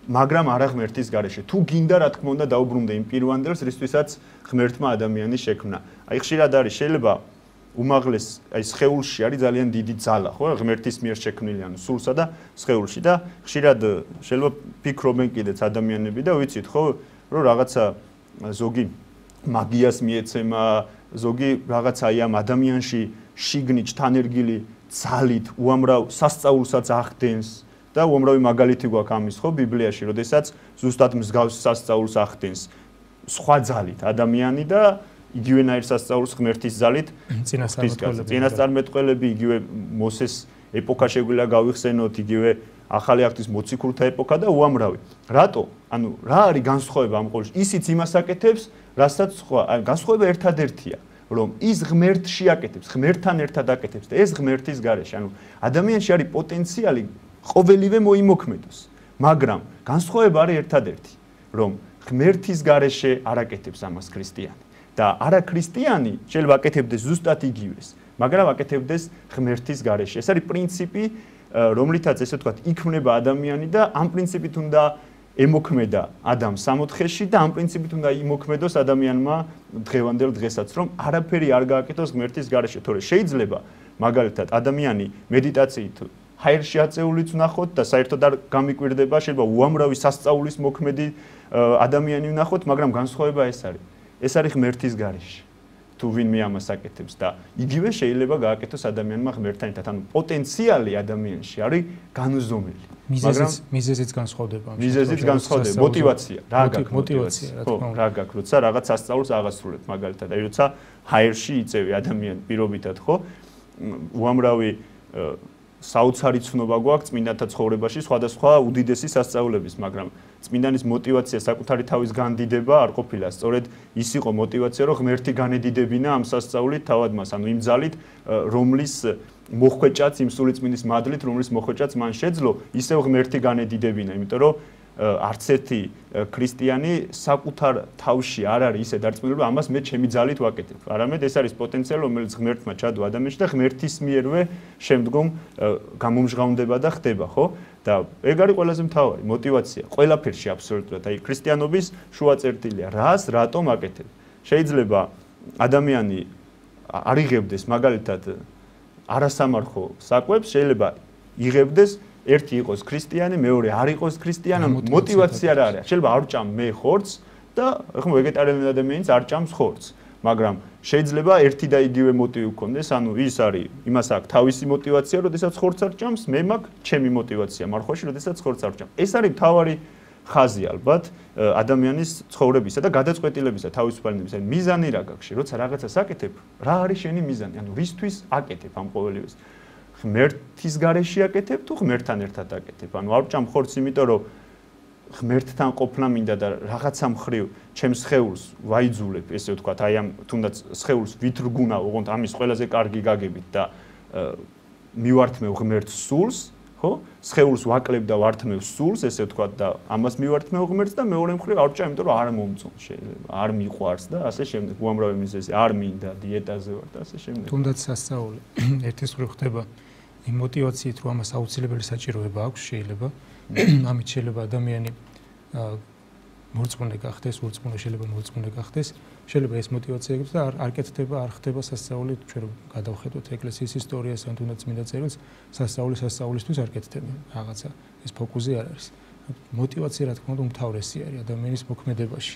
მაგრამ არა ღმერთის გარეშე. თუ გინდა, რა თქმა უნდა, დაუბრუნდე იმ პირვანდელს, რისთვისაც ღმერთმა ადამიანის შექმნა. აი ხშირად არის შეიძლება უმაღლეს აი სხეულში არის ძალიან დიდი ძალა, ხო? ღმერთის მიერ შექმნილი, ანუ სულსა და სხეულში და ხშირად შეიძლება ფიქრობენ კიდეც ადამიანები და ვიცით, ხო, რომ რაღაცა ზოგი მაგიას მიეცემა, ზოგი რაღაცა აი ამ ადამიანში შიგნით თანერგილი ძალით უამრავ სასწაულსაც ახდენს და უამრავი მაგალითი გვაქვს ამის, ხო, ბიბლიაში, როდესაც ზუსტად მსგავს სასწაულს ახდენს სხვა ძალით ადამიანი და იგივენაირ სასწაულს ღმერთის ძალით წინასწარმეტყველები, იგივე მოსეს ეპოქა შეგვიძლია გავიხსენოთ, იგივე ახალი აქტის მოციქულთა ეპოქა და უამრავი. რატო? ანუ რა არის განსხვავება ამ ყოველში? ისიც იმას აკეთებს, რასაც სხვა, განსხვავება ერთადერთია, რომ ის ღმერთში აკეთებს, ღმერთთან ერთად აკეთებს და ეს ღმერთის გარეშე. ანუ ადამიანში არის პოტენციალი ყოველივე მოიმოქმედოს, მაგრამ განსხვავება არის ერთადერთი, რომ ღმერთის გარეშე არ აკეთებს ამას ქრისტიანი და არა ქრისტიანი შეიძლება აკეთებდეს ზუსტად იგივეს, მაგრამ აკეთებდეს ღმერთის გარეშე. ეს არის პრინციპი, რომლითაც ესე ვთქვათ, იქმნება ადამიანი და ამ პრინციპით უნდა ემოქმედა ადამიანს სამოთხეში და ამ პრინციპით უნდა იმოქმედოს ადამიანმა დღევანდელ დღესაც, რომ არაფერი არ გააკეთოს ღმერთის გარეშე. თორე შეიძლება მაგალითად ადამიანი მედიტაციით ჰაერში აწეულიც ვნახოთ და საერთოდ არ გამიკვირდება, შეიძლება უამრავი სასწაულის მოქმედი ადამიანი ვნახოთ, მაგრამ განსხვავება ეს არის. ეს არის ღმერთის გარეშე. თუ ვინმე ამას აკეთებს და იგივე შეიძლება გააკეთოს ადამიანმა ღმერთთან ერთად. ანუ პოტენციალი ადამიანში არის განუზომელი. მიზეზიც განსხვავდება. მიზეზიც განსხვავდება, мотиваცია. რა გაქვს мотиваცია, რა თქმა უნდა. რა გაქვს, როცა რაღაც სასწაულს აღასრულებ, მაგალითად, აი როცა ჰაერში იწევი ადამიანი პირობითად, ხო? უამრავი საოცარი ცნობა გვაქვს წმინდანთა ცხოვრებაში სხვადასხვა უდიდესი სასწაულების, მაგრამ წმინდანის мотиваცია საკუთარი თავის განდიდება არ ყოფილა. სწორედ ის იყო мотиваცია, რომ ღმერთი განედიდებინა ამ სასწაულით თავად მას, ანუ იმ ძალით, რომლის მოხვეჭაც, იმ სული წმინდის მადლით, რომლის მოხვეჭაც მან შეძლო, ისევ ღმერთი განედიდებინა, იმიტომ რომ არც ერთი ქრისტიანი საკუთარ თავში არ არის ისე დარწმუნებული, რომ ამას მე ჩემი ძალით ვაკეთებ. არამედ ეს არის პოტენციალი, რომელიც ღმერთმა ჩადო ადამიანში და ღმერთის მიერვე შემდგომ გამომჟღავნდება და ხდება, ხო? და ეგ არის ყველაზე მთავარი мотиваცია. ყველაფერში აბსოლუტურად. აი ქრისტიანობის შუა წერტილია. რას, რატომ აკეთებ? შეიძლება ადამიანი არ იღებდეს მაგალითად არასამარხო საკვებს, შეიძლება იღებდეს ერთი იყოს ქრისტიანი, მეორე არ იყოს ქრისტიანი, мотиваცია რა არის? შეიძლება არ ჭამ მე ხორცს და ხო ვეგეტარიანული ადამიანიც არ ჭამს ხორცს, მაგრამ შეიძლება ერთი და იგივე мотиვი გქონდეს, ანუ ის არის, იმას აქვს თავისი мотиваცია, როდესაც ხორცს არ ჭამს, მე მაქვს ჩემი мотиваცია მარხვაში, როდესაც ხორცს არ ჭამ. ეს არის მთავარი ხაზი ალბათ ადამიანის ცხოვრებისა და გადაწყვეტილებისა, თავისუფლებისა. მიზანი რა გაქვს? როცა რაღაცას აკეთებ, რა არის შენი მიზანი? ანუ რისთვის აკეთებ ამ ყოველივეს? ღმერთის გარეშე აკეთებ თუ ღმერთთან ერთად აკეთებ? ანუ არ ჭამ ხორცს, იმიტომ რომ ღმერთთან ყოფნა მინდა და რაღაცა მხრივ ჩემს სხეულს ვაიძულებ, ესე ვთქვათ, აი ამ თუნდაც სხეულს ვითრგუნა, ოღონდ ამის ყველაზე კარგი გაგებით და მივართმევ ღმერთს სულს, ხო? სხეულს ვაკლებ და ვართმევ სულს, ესე ვთქვათ და ამას მივართმევ ღმერთს და მეორე მხრივ არ ჭამ, იმიტომ რომ არ მომწონს შეიძლება, არ მიყვარს და ასე შემდეგ. უამრავი მიზეზი, არ მინდა, დიეტაზე ვარ და ასე შემდეგ. თუნდაც სასწაული ერთის მხრივ ხდება იმ мотиваციით, რომ ამას აუცილებელი საჭიროება აქვს, შეიძლება ამით შეიძლება ადამიანი მორწმუნე გახდეს, ურწმუნო შეიძლება მორწმუნე გახდეს, შეიძლება ეს мотиваცია იქნება და არ კეთდება, არ ხდება სასწაული, ჩვენ რომ გადავხედოთ ეკლესიის ისტორიას, ან თუნდაც წმინდა წერილს, სასწაულისთვის არ კეთდება რაღაცა, ეს ფოკუსი არ არის. мотиваცია რა თქმა უნდა უმთავრესი არის ადამიანის მოქმედებაში.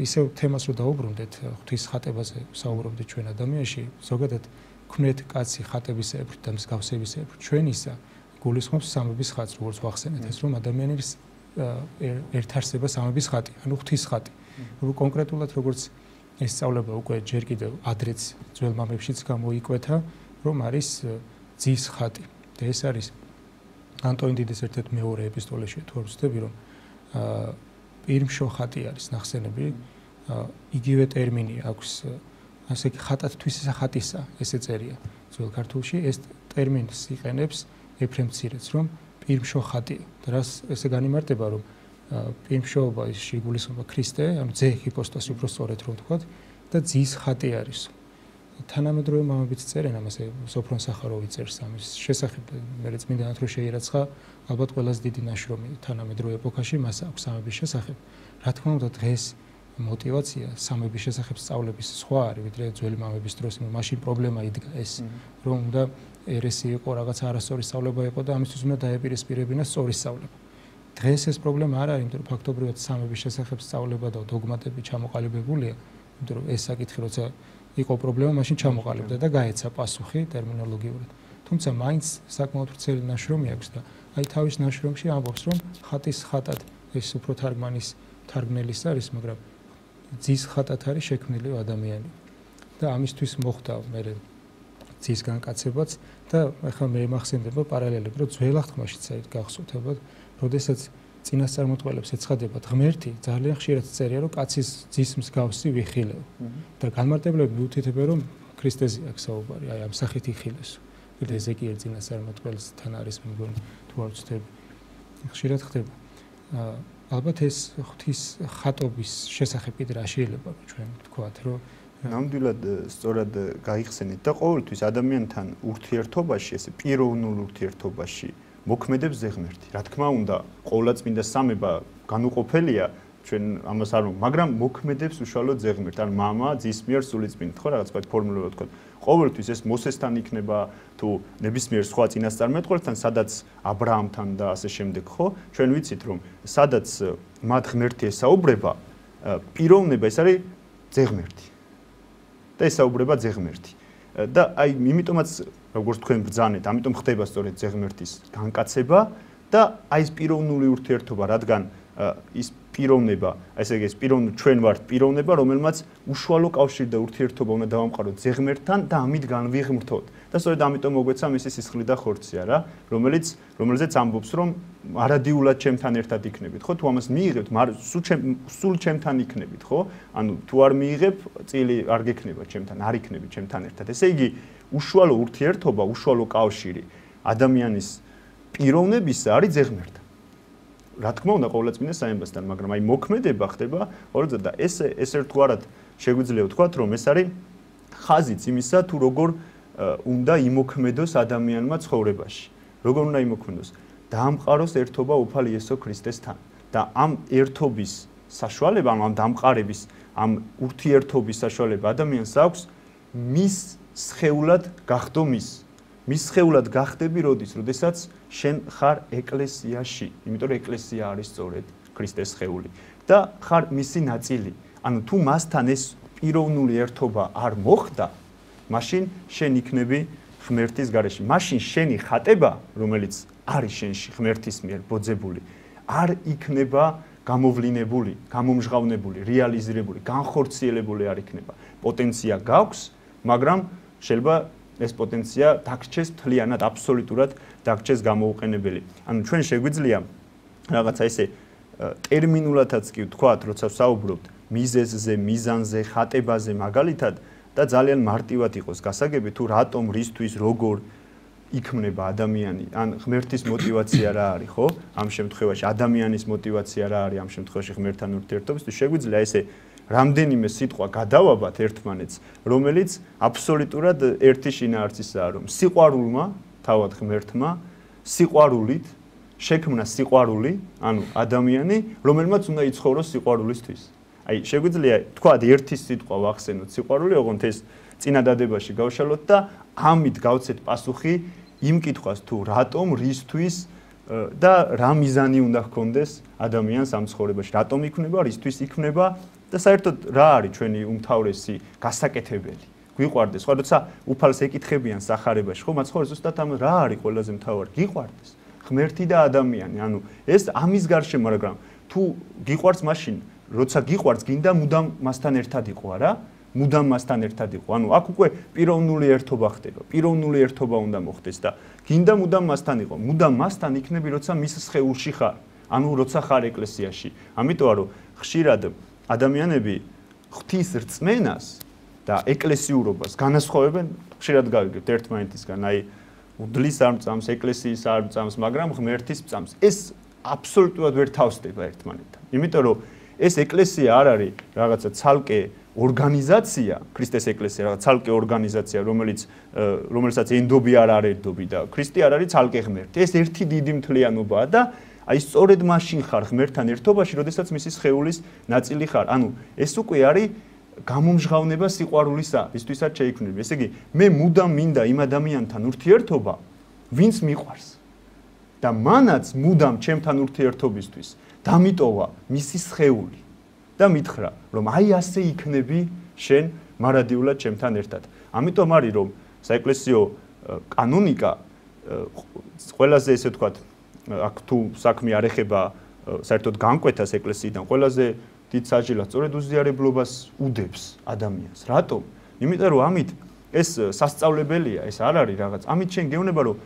ისევ თემას რო დაუბრუნდეთ, ღვთის ხატებაზე საუბრობდით ჩვენ ადამიანში, ზოგადად ქმნეთ კაცი ხატებისებრ და მსგავსებისებრ ჩვენისა გულისხმობს სამების ხატს, როგორც ვახსენეთ, ეს რომ ადამიანის ერთარსება სამების ხატი, ანუ ღვთის ხატი. კონკრეტულად როგორც ესწავლება უკვე ჯერ კიდევ ადრეც ძველ მამებშიც გამოიკვეთა, რომ არის ძის ხატი. და ეს არის ანტონი დიდის ერთ-ერთ მეორე ეპისტოლეში თუ არ ვცდები, რომ პირმშო ხატი არის ნახსენები, იგივე ტერმინი აქვს, ასე კი ხატათვისისა ხატისა, ესე წერია ძველ ქართულში, ეს ტერმინს იყენებს ეფრემ მცირეც, რომ პირმშო ხატია. და რას ესე განიმარტება, რომ პირმშოობა ის შეგულისხმება ქრისტე, ანუ ძე ჰიპოსტასი უფრო სწორედ რომ ვთქვათ, და ძის ხატი არის. თანამედროვე მამებიც წერენ ამას, სოფრონ სახაროვი წერს ამის შესახებ, მე წმინდანად რო შეირაცხა, ალბათ ყველაზე დიდი ნაშრომი თანამედროვე ეპოქაში მას აქვს სამების შესახებ. რა თქმა უნდა, დღეს мотиваცია სამების შესახებ სწავლების სხვა არის, ვიდრე ძველი მამების დროს, მაშინ პრობლემა იდგა ეს, რომ უნდა ერესი იყო, რაღაც არასწორი სწავლება იყო და ამისთვის უნდა დაეპირისპირებინა სწორი სწავლება. დღეს ეს პრობლემა არ არის, იმიტომ რომ ფაქტობრივად სამების შესახებ სწავლება და დოგმატები ჩამოყალიბებულია, იმიტომ რომ ეს საკითხი როცა იყო პრობლემა, მაშინ ჩამოყალიბდა და გაეცა პასუხი ტერმინოლოგიურად. თუმცა მაინც საკმაოდ ვრცელი ნაშრომი აქვს და აი თავის ნაშრომში ამბობს, რომ ხატის ხატად ეს უფრო თარგმნელის არის, მაგრამ ძის ხატად არის შექმნილი ადამიანი. და ამისთვის მოხდა მე ძის განკაცებაც და ახლა მე მახსენდება პარალელები, რომ ძველ აღთქმაშიც საერთოდ გახსოვთ ალბათ, როდესაც წინასწარმეტყველებს ეცხადებათ ღმერთი, ძალიან ხშირად წერია, რომ კაცის ძის მსგავსი ვიხილეო. და განმარტებლები მიუთითებენ, რომ ქრისტეზე აქვს საუბარი, აი ამ სახით იხილესო. ეზეკიელ წინასწარმეტყველთან არის მე მგონი თუ არ ვცდები. ხშირად ხდება. ალბათ ეს ღვთის ხატობის შესახებ კიდე რა შეიძლება ჩვენ ვთქვათ, რომ ნამდვილად სწორად გაიხსენეთ და ყოველთვის ადამიანთან ურთიერთობაში, ესე პიროვნულ ურთიერთობაში მოქმედებს ზეღმერთი. რა თქმა უნდა, ყოვლადწმინდა სამება განუყოფელია, ჩვენ ამას არ ვამბობ, მაგრამ მოქმედებს უშუალოდ ზეღმერთი, ან მამა ძის მიერ სულიწმინდით, ხო, რაღაც ფორმულურად ვთქვათ. ყოველთვის ეს მოსესთან იქნება თუ ნებისმიერ სხვა წინასწარმეტყველთან, სადაც ა ブラ ამთან და ასე შემდეგ, ხო? ჩვენ ვიცით, რომ სადაც მათ ღმერთი ესაუბრება, პიროვნება ეს არის ზეღმერთი. და ესაუბრება ზეღმერთი. და აი იმიტომაც როგორც თქვენ ბრძანეთ, ამიტომ ხდება სწორედ ზეღმერთის განკაცება და აი ეს პიროვნული ურთიერთობა, რადგან ის პიროვნება, ესე იგი ეს ჩვენ ვართ პიროვნება, რომელმაც უშუალო კავშირი და ურთიერთობა უნდა დავამყაროთ ზეღმერთთან და ამით განვიღმრთოთ. და სწორედ ამიტომ მოგვეცა მისი სისხლი და ხორცია რა, რომელზეც ამბობს, რომ არადიულად ჩემთან ერთად იქნებით, ხო? თუ ამას მიიღებთ, სულ ჩემთან იქნებით, ხო? ანუ თუ არ მიიღებ, წილი არ გექნება ჩემთან, არ იქნები ჩემთან ერთად. ესე იგი, უშუალო ურთიერთობა, უშუალო კავშირი ადამიანის პიროვნებისა არის ზეღმერთთან. რა თქმა უნდა, ყოვლადწმინდა საემბასთან, მაგრამ აი მოქმედება ხდება ორზად და ეს ერთგვარად შეგვიძლია ვთქვათ, რომ ეს არის ხაზიც იმისა, თუ როგორ უნდა იმოქმედოს ადამიანმა ცხოვრებაში. როგორ უნდა იმოქმედოს? დაამყაროს ერთობა უფალ იესო ქრისტესთან და ამ ერთობის საშუალება, ამ დამყარების, ამ ურთიერთობის საშუალება ადამიანს აქვს მის სხეულად გახდო მის სხეულად გახდები როდესაც შენ ხარ ეკლესიაში, იმიტომ რომ ეკლესია არის სწორედ ქრისტეს სხეული და ხარ მისი ნაწილი. ანუ თუ მასთან ეს პიროვნული ერთობა არ მოხდა, მაშინ შენ იქნები ღმერთის გარეშე. მაშინ შენი ხატება, რომელიც არის შენში ღმერთის მიერ ბოძებული, არ იქნება გამოვლინებული, გამომჟღავნებული, რეალიზირებული, განხორციელებული არ იქნება. პოტენცია გაქვს, მაგრამ შეიძლება ეს პოტენცია დაგრჩეს მთლიანად, აბსოლუტურად დაგრჩეს გამოუყენებელი. ანუ ჩვენ შეგვიძლია რაღაცა ესე ტერმინულადაც კი ვთქვათ, როცა ვსაუბრობთ მიზეზზე, მიზანზე, ხატებაზე მაგალითად და ძალიან მარტივად იყოს გასაგები თუ რატომ, რისთვის, როგორ იქმნება ადამიანი, ან ღმერთის мотиваცია რა არის, ხო? ამ შემთხვევაში ადამიანის мотиваცია რა არის ამ შემთხვევაში ღმერთთან ურთიერთობისთვის, შეგვიძლია ესე რამდენიმე სიტყვა გადავაბათ ერთმანეთს, რომელიც აბსოლუტურად ერთი შინაარსისაა, რომ სიყვარულმა, თავად ღმერთმა, სიყვარულით შექმნა სიყვარული, ანუ ადამიანი, რომელმაც უნდა იცხოვროს სიყვარულისთვის. აი, შეგვიძლია თქვა ერთი სიტყვა ვახსენოთ სიყვარული, ოღონდ ეს წინადადებაში გავშალოთ და ამით გავცეთ პასუხი იმ კითხვას თუ რატომ, რისთვის და რა მიზანი უნდა ჰქონდეს ადამიანს ამ ცხოვრებაში, რატომ იქნება, რისთვის იქნება და საერთოდ რა არის ჩვენი უმთავრესი გასაკეთებელი. გვიყვარდეს, ხო, როცა უფალს ეკითხებიან სახარებაში, ხო, მაცხოვრე ზუსტად ამ რა არის ყველაზე მთავარი? გიყვარდეს ღმერთი და ადამიანი. ანუ ეს ამის გარშემო, მაგრამ თუ გიყვარს მაშინ, როცა გიყვარს, გინდა მუდამ მასთან ერთად იყო, არა? მუდამ მასთან ერთად იყო. ანუ აქ უკვე პიროვნული ერთობა ხდება. პიროვნული ერთობა უნდა მოხდეს და გინდა მუდამ მასთან იყო. მუდამ მასთან იქნები, როცა მის სხეულში ხარ. ანუ როცა ხარ ეკლესიაში. ამიტომ რომ ხშირად ადამიანები ღვთის რწმენას და ეკლესიურობას განასხვავებენ, ხშირად გავიგებთ ერთმანეთისგან, აი უდლის არ მწამს, ეკლესიის არ მწამს, მაგრამ ღმერთის მწამს. ეს აბსოლუტურად ვერ თავსდება ერთმანეთთან. იმიტომ რომ ეს ეკლესია არ არის რაღაცა ცალკე ორგანიზაცია, ქრისტეს ეკლესია რაღაც ცალკე ორგანიზაცია, რომელსაც ენდობი არ არერდობი და ქრისტე არ არის ცალკე ღმერთი. ეს ერთი დიდი მთლიანობაა და აი სწორედ მაშინ ხარ ღმერთთან ერთობაში, როდესაც მისი სხეულის ნაწილი ხარ. ანუ ეს უკვე არის გამომჟღავნება სიყვარულისა, ვისთვისაც შეიქმნები. ესე იგი, მე მუდამ მინდა იმ ადამიანთან ურთიერთობა, ვინც მიყვარს. და მანაც მუდამ ჩემთან ურთიერთობისთვის დამიტოვა მისი სხეული და მითხრა, რომ აი ასე იქნები შენ მარადიულად ჩემთან ერთად. ამიტომ არის რომ საეკლესიო კანონიკა ყველაზე ესე ვთქვათ, აქ თუ საქმე არ ეხება საერთოდ განკვეთას ეკლესიიდან, ყველაზე დიდ საჭილას სწორედ უზიარებლობას უდებს ადამიანს. რატომ? იმიტომ რომ ამით ეს სასწავლებელია, ეს არ არის რაღაც. ამით შენ გეუბნება რომ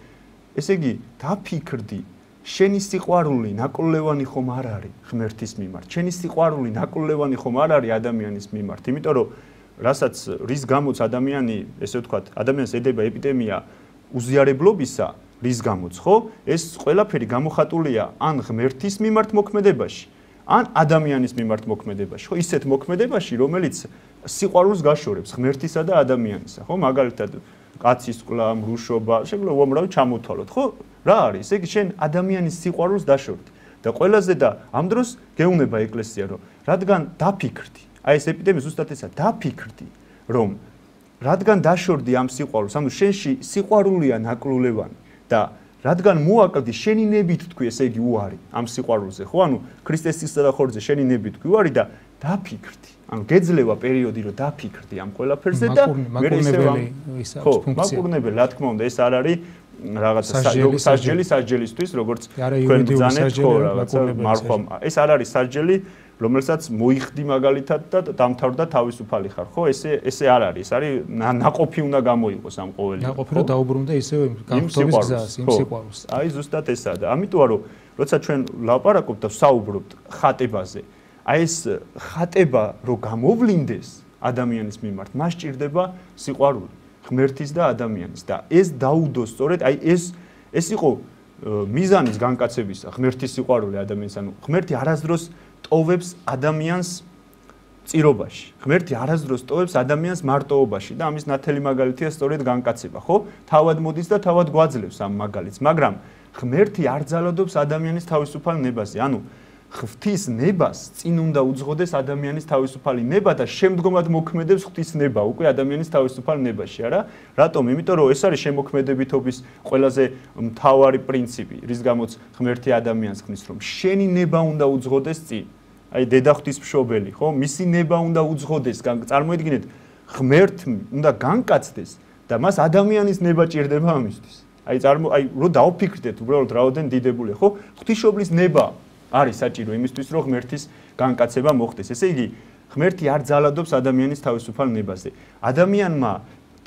ესე იგი დაფიქრდი შენი სიყვარული ნაკოლევანი ხომ არ არის ღმერთის მიმართ. შენი სიყვარული ნაკოლევანი ხომ არ არის ადამიანის მიმართ. იმიტომ რომ რასაც რის გამოც ადამიანი, ესე ვთქვათ, ადამიანს ედება ეპიდემია უზიარებლობისა, რის გამოც, ხო? ეს ყველაფერი გამოხატულია ან ღმერთის მიმართ მოქმედებაში, ან ადამიანის მიმართ მოქმედებაში, ხო? ისეთ მოქმედებაში, რომელიც სიყვარულს გაშორებს ღმერთისა და ადამიანისა, ხო? მაგალითად, კაცის ყლა, მრუშობა, შეგვიძლია უამრავი ჩამოთვალოთ, ხო? რა არის? ესე იგი შენ ადამიანის სიყვარულს დაშორდი და ყველაზე და ამ დროს გეუბნება ეკლესია, რომ რადგან დაფიქრდი, აი ეს ეპიდემია ზუსტად ესა, დაფიქრდი, რომ რადგან დაშორდი ამ სიყვარულს, ანუ შენში სიყვარულია ნაკლულევანი და რადგან მოაკლდი შენი ნებით თქვი, ესე იგი უარი ამ სიყვარულზე, ხო? ანუ ქრისტეს სისხლსა და ხორცზე შენი ნებით თქვი უარი და დაფიქრდი. ანუ გეძლევა პერიოდი, რომ დაფიქრდი ამ ყველაფერზე და მე ისევ ის ფუნქცია. მაკურნებელი, რა თქმა უნდა, ეს არ არის რაღაცა სასჯელისთვის, როგორც თქვენ ბრძანეთ, ხო, რაღაცა მარხვა. ეს არ არის სასჯელი, რომელსაც მოიხდი მაგალითად და დამთავრდა თავისუფალი ხარ, ხო? ესე არ არის. ეს არის ნაყოფი უნდა გამოიყოს ამ ყოველი. ნაყოფი რომ დაუბრუნდა ისევ განხორციელების გზას, იმ სიყვარულს. აი ზუსტად ესაა და ამიტომ რომ როცა ჩვენ ვლაპარაკობთ და ვსაუბრობთ ხატებაზე, აი ეს ხატება რო გამოვლინდეს ადამიანის მიმართ, მას ჭირდება სიყვარული ღმერთის და ადამიანის და ეს დაუდოს სწორედ აი ეს იყო მიზანის განკაცებისა ღმერთის სიყვარული ადამიანის, ანუ ღმერთი არასდროს ტოვებს ადამიანს წირობაში, ღმერთი არასდროს ტოვებს ადამიანს მარტოობაში და ამის ნათელი მაგალითია სწორედ განკაცება, ხო? თავად მოდის და თავად გვაძლევს ამ მაგალითს, მაგრამ ღმერთი არ ძალადობს ადამიანის თავისუფალ ნებაზე, ანუ ღვთის ნებას წინ უნდა უძღოდეს ადამიანის თავისუფალი ნება და შემდგომად მოქმედებს ღვთის ნება უკვე ადამიანის თავისუფალ ნებაში, არა? რატომ? იმიტომ რომ ეს არის შემოქმედებითობის ყველაზე მთავარი პრინციპი, რის გამოც ღმერთი ადამიანს ხნის, რომ შენი ნება უნდა უძღოდეს წინ. აი დედა ღვთისმშობელი, ხო? მისი ნება უნდა უძღოდეს, წარმოიდგინეთ, ღმერთი უნდა განკაცდეს და მას ადამიანის ნება ჭირდება ამისთვის. აი რო დავფიქრდეთ, უბრალოდ რაოდენ დიდებულია, ხო? ღვთისმშობლის ნება არის საჭირო იმისთვის, რომ ღმერთის განკაცება მოხდეს. ესე იგი, ღმერთი არ ძალადობს ადამიანის თავისუფალ ნებაზე. ადამიანმა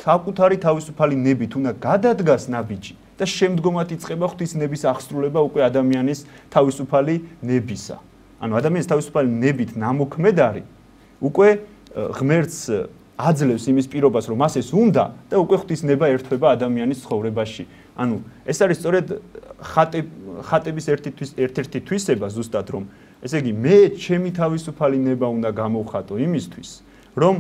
საკუთარი თავისუფალი ნებით უნდა გადადგას ნაბიჯი და შემდგომად იწყება ღვთის ნების აღსრულება უკვე ადამიანის თავისუფალი ნებისა. ანუ ადამიანის თავისუფალი ნებით ნამოქმედარი უკვე ღმერთს აძლევს იმის პირობას, რომ მას ეს უნდა და უკვე ღვთის ნება ერთვება ადამიანის ცხოვრებაში. ანუ ეს არის სწორედ ხატების ერთ-ერთი თვისება ზუსტად, რომ ესე იგი მე ჩემი თავისუფალი ნება უნდა გამოვხატო იმისთვის, რომ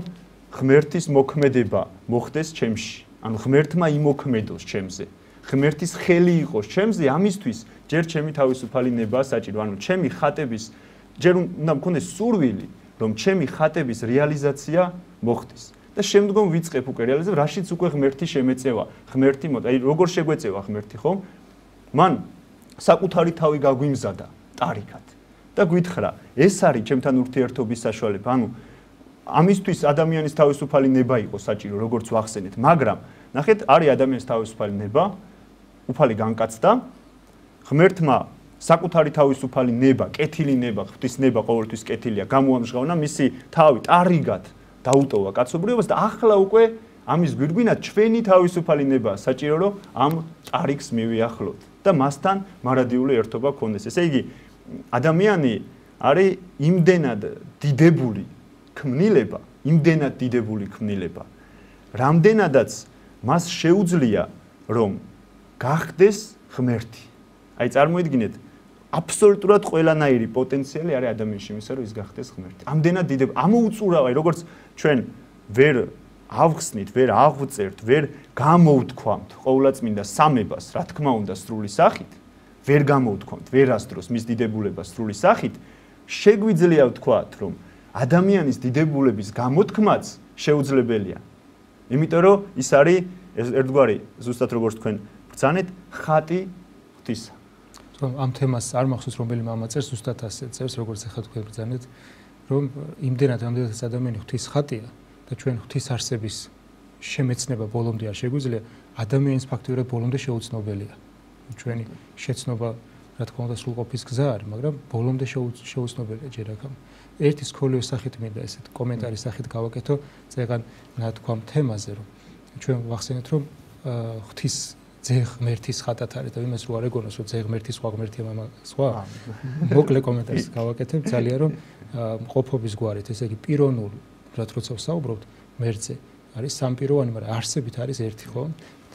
ღმერთის მოქმედება მოხდეს ჩემში. ანუ ღმერთმა იმოქმედოს ჩემზე. ღმერთის ხელი იყოს ჩემზე, ამისთვის ჯერ ჩემი თავისუფალი ნება საჭირო. ანუ ჩემი ხატების ჯერ უნდა მქონდეს სურვილი, რომ ჩემი ხატების რეალიზაცია მოხდეს. და შემდგომ ვიწყებ უკვე რეალიზება, რაშიც უკვე ღმერთი შემეწევა. ღმერთი აი როგორ შეგვეწევა ღმერთი, ხო? მან საკუთარი თავი გაგვიმზადა ტარიკად და გვითხრა, ეს არის ჩემთან ურთიერთობის საშუალება. ანუ ამისთვის ადამიანის თავისუფალი ნება იყო საჭირო, როგორც ვახსენეთ, მაგრამ ნახეთ, არის ადამიანის თავისუფალი ნება, უფალი განკაცდა, ღმერთმა საკუთარი თავისუფალი ნება, კეთილი ნება, ღვთის ნება ყოველთვის კეთილია, გამოამჟღავნა მისი თავი ტარიგად დაუტოვა კაცობრიობას და ახლა უკვე ამის გვირგვინად ჩვენი თავისუფალი ნება საჭირო, რომ ამ ტარიგს მივიახლოთ და მასთან მარადიული ერთობა გქონდეს. ესე იგი, ადამიანი არის იმდენად დიდებული ქმნილება, იმდენად დიდებული ქმნილება, რამდენადაც მას შეუძლია, რომ გახდეს ღმერთი. აი წარმოიდგინეთ, აბსოლუტურად ყველანაირი პოტენციალი არის ადამიანში იმისა, რომ ის გახდეს ღმერთი. ამდენად დიდებული, ამოუწურავ, აი როგორც ჩვენ ვერ ავხსნით, ვერ აღვწერთ, ვერ გამოვთქვამთ ყოვლადწმინდა სამებას, რა თქმა უნდა, სრული სახით, ვერ გამოვთქვამთ ვერასდროს მის დიდებულებას სრული სახით, შეგვიძლია ვთქვათ, რომ ადამიანის დიდებულების გამოთქმაც შეუძლებელია. იმიტომ რომ ის არის ერთგვარი, ზუსტად როგორც თქვენ ბრძანეთ, ხატი ღვთისა. ამ თემას არ მახსოვს რომელი მამა წერს, ზუსტად ასე წერს, როგორც ახლა თქვენ ბრძანეთ, რომ იმდენად ადამიანი ღვთის ხატია და ჩვენ ღვთის არსების შემეცნება ბოლომდე არ შეგვიძლია, ადამიანის ფაქტობრივად ბოლომდე შეუცნობელია. ჩვენი შეცნობა, რა თქმა უნდა, სრულყოფის გზა არის, მაგრამ ბოლომდე შეუცნობელია ჯერ აქამ. ერთი სქოლიოს სახით მინდა ესეთ კომენტარის სახით გავაკეთო წეგან ნათქვამ თემაზე, რომ ჩვენ ვახსენეთ რომ ღვთის ძე ღმერთის ხატად არის და იმას რო არ ეგონოს რომ ძე ღმერთი სხვა ღმერთია მამა სხვა მოკლე კომენტარს გავაკეთებ ძალიან რომ მყოფობის გვარით ესე იგი პიროვნულ როცა ვსაუბრობთ მერწე არის სამპიროვანი მაგრამ არსებით არის ერთი ხო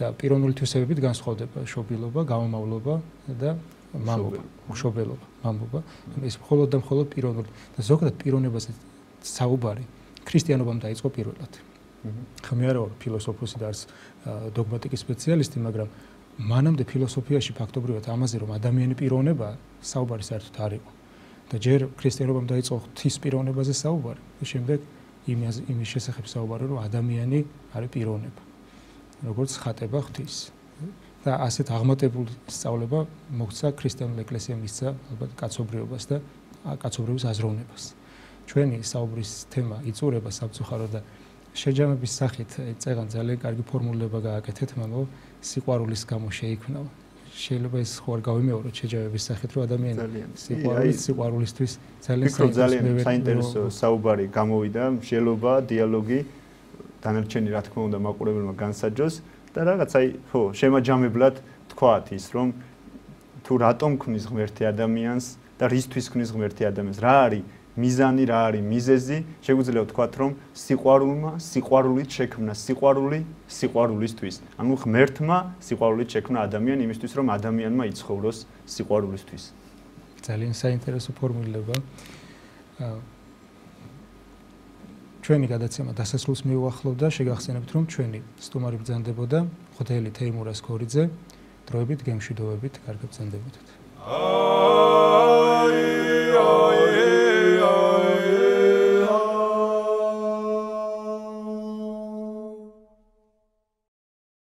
და პიროვნული თვისებებით განსხვავდება შობილობა გამომავლობა და მამობა მშობელობა მამობა ეს მხოლოდ და მხოლოდ პიროვნული და ზოგადად პიროვნებაზე საუბარი ქრისტიანობამ დაიწყო პირველად ხომ მე არა ვარ ფილოსოფოსი და არც დოგმატიკის სპეციალისტი მაგრამ მანამდე ფილოსოფიაში ფაქტობრივად ამაზე რომ ადამიანი პიროვნება საუბარი საერთოდ არ იყო და ჯერ ქრისტიანობამ დაიწყო ღვთის პიროვნებაზე საუბარი და შემდეგ იმის შესახებ საუბარი რომ ადამიანი არის პიროვნება როგორც ხატება ღვთის და ასეთ აღმატებული სწავლება მოხდა ქრისტიანულ ეკლესიამ მისცა ალბათ კაცობრიობას და კაცობრიობის აზროვნებას ჩვენი საუბრის თემა იწურება სამწუხაროდ და შეჯამების სახით წეგან ძალიან კარგი ფორმულება გააკეთეთ მამო სიყვარულის გამო შეიქმნა შეიძლება ეს ხო არ გავიმეოროთ შეჯამების სახით რომ ადამიანი სიყვარულისთვის ძალიან საინტერესო საუბარი გამოვიდა მსჯელობა დიალოგი დანარჩენი რა თქმა უნდა მაყურებელმა განსაჯოს და რაღაც აი ხო შემაჯამებლად თქვათ ის რომ თუ რატომ ქმნის ღმერთი ადამიანს და რისთვის ქმნის ღმერთი ადამიანს რა არის მიზანი რა არის მიზეზი შეგვიძლია ვთქვათ რომ სიყვარულმა სიყვარულით შექმნა სიყვარული სიყვარულისთვის ანუ ღმერთმა სიყვარულით შექმნა ადამიანი იმისთვის რომ ადამიანმა იცხოვროს სიყვარულისთვის ძალიან საინტერესო ფორმულირება ჩვენი გადაცემა დასასრულს მიუახლოვდა შეგახსენებთ რომ ჩვენი სტუმარი ბრძანდებოდა ღვთელი თეიმურაზ ქორიძე დროებით გემშვიდობებით კარგად ბრძანდებოდეთ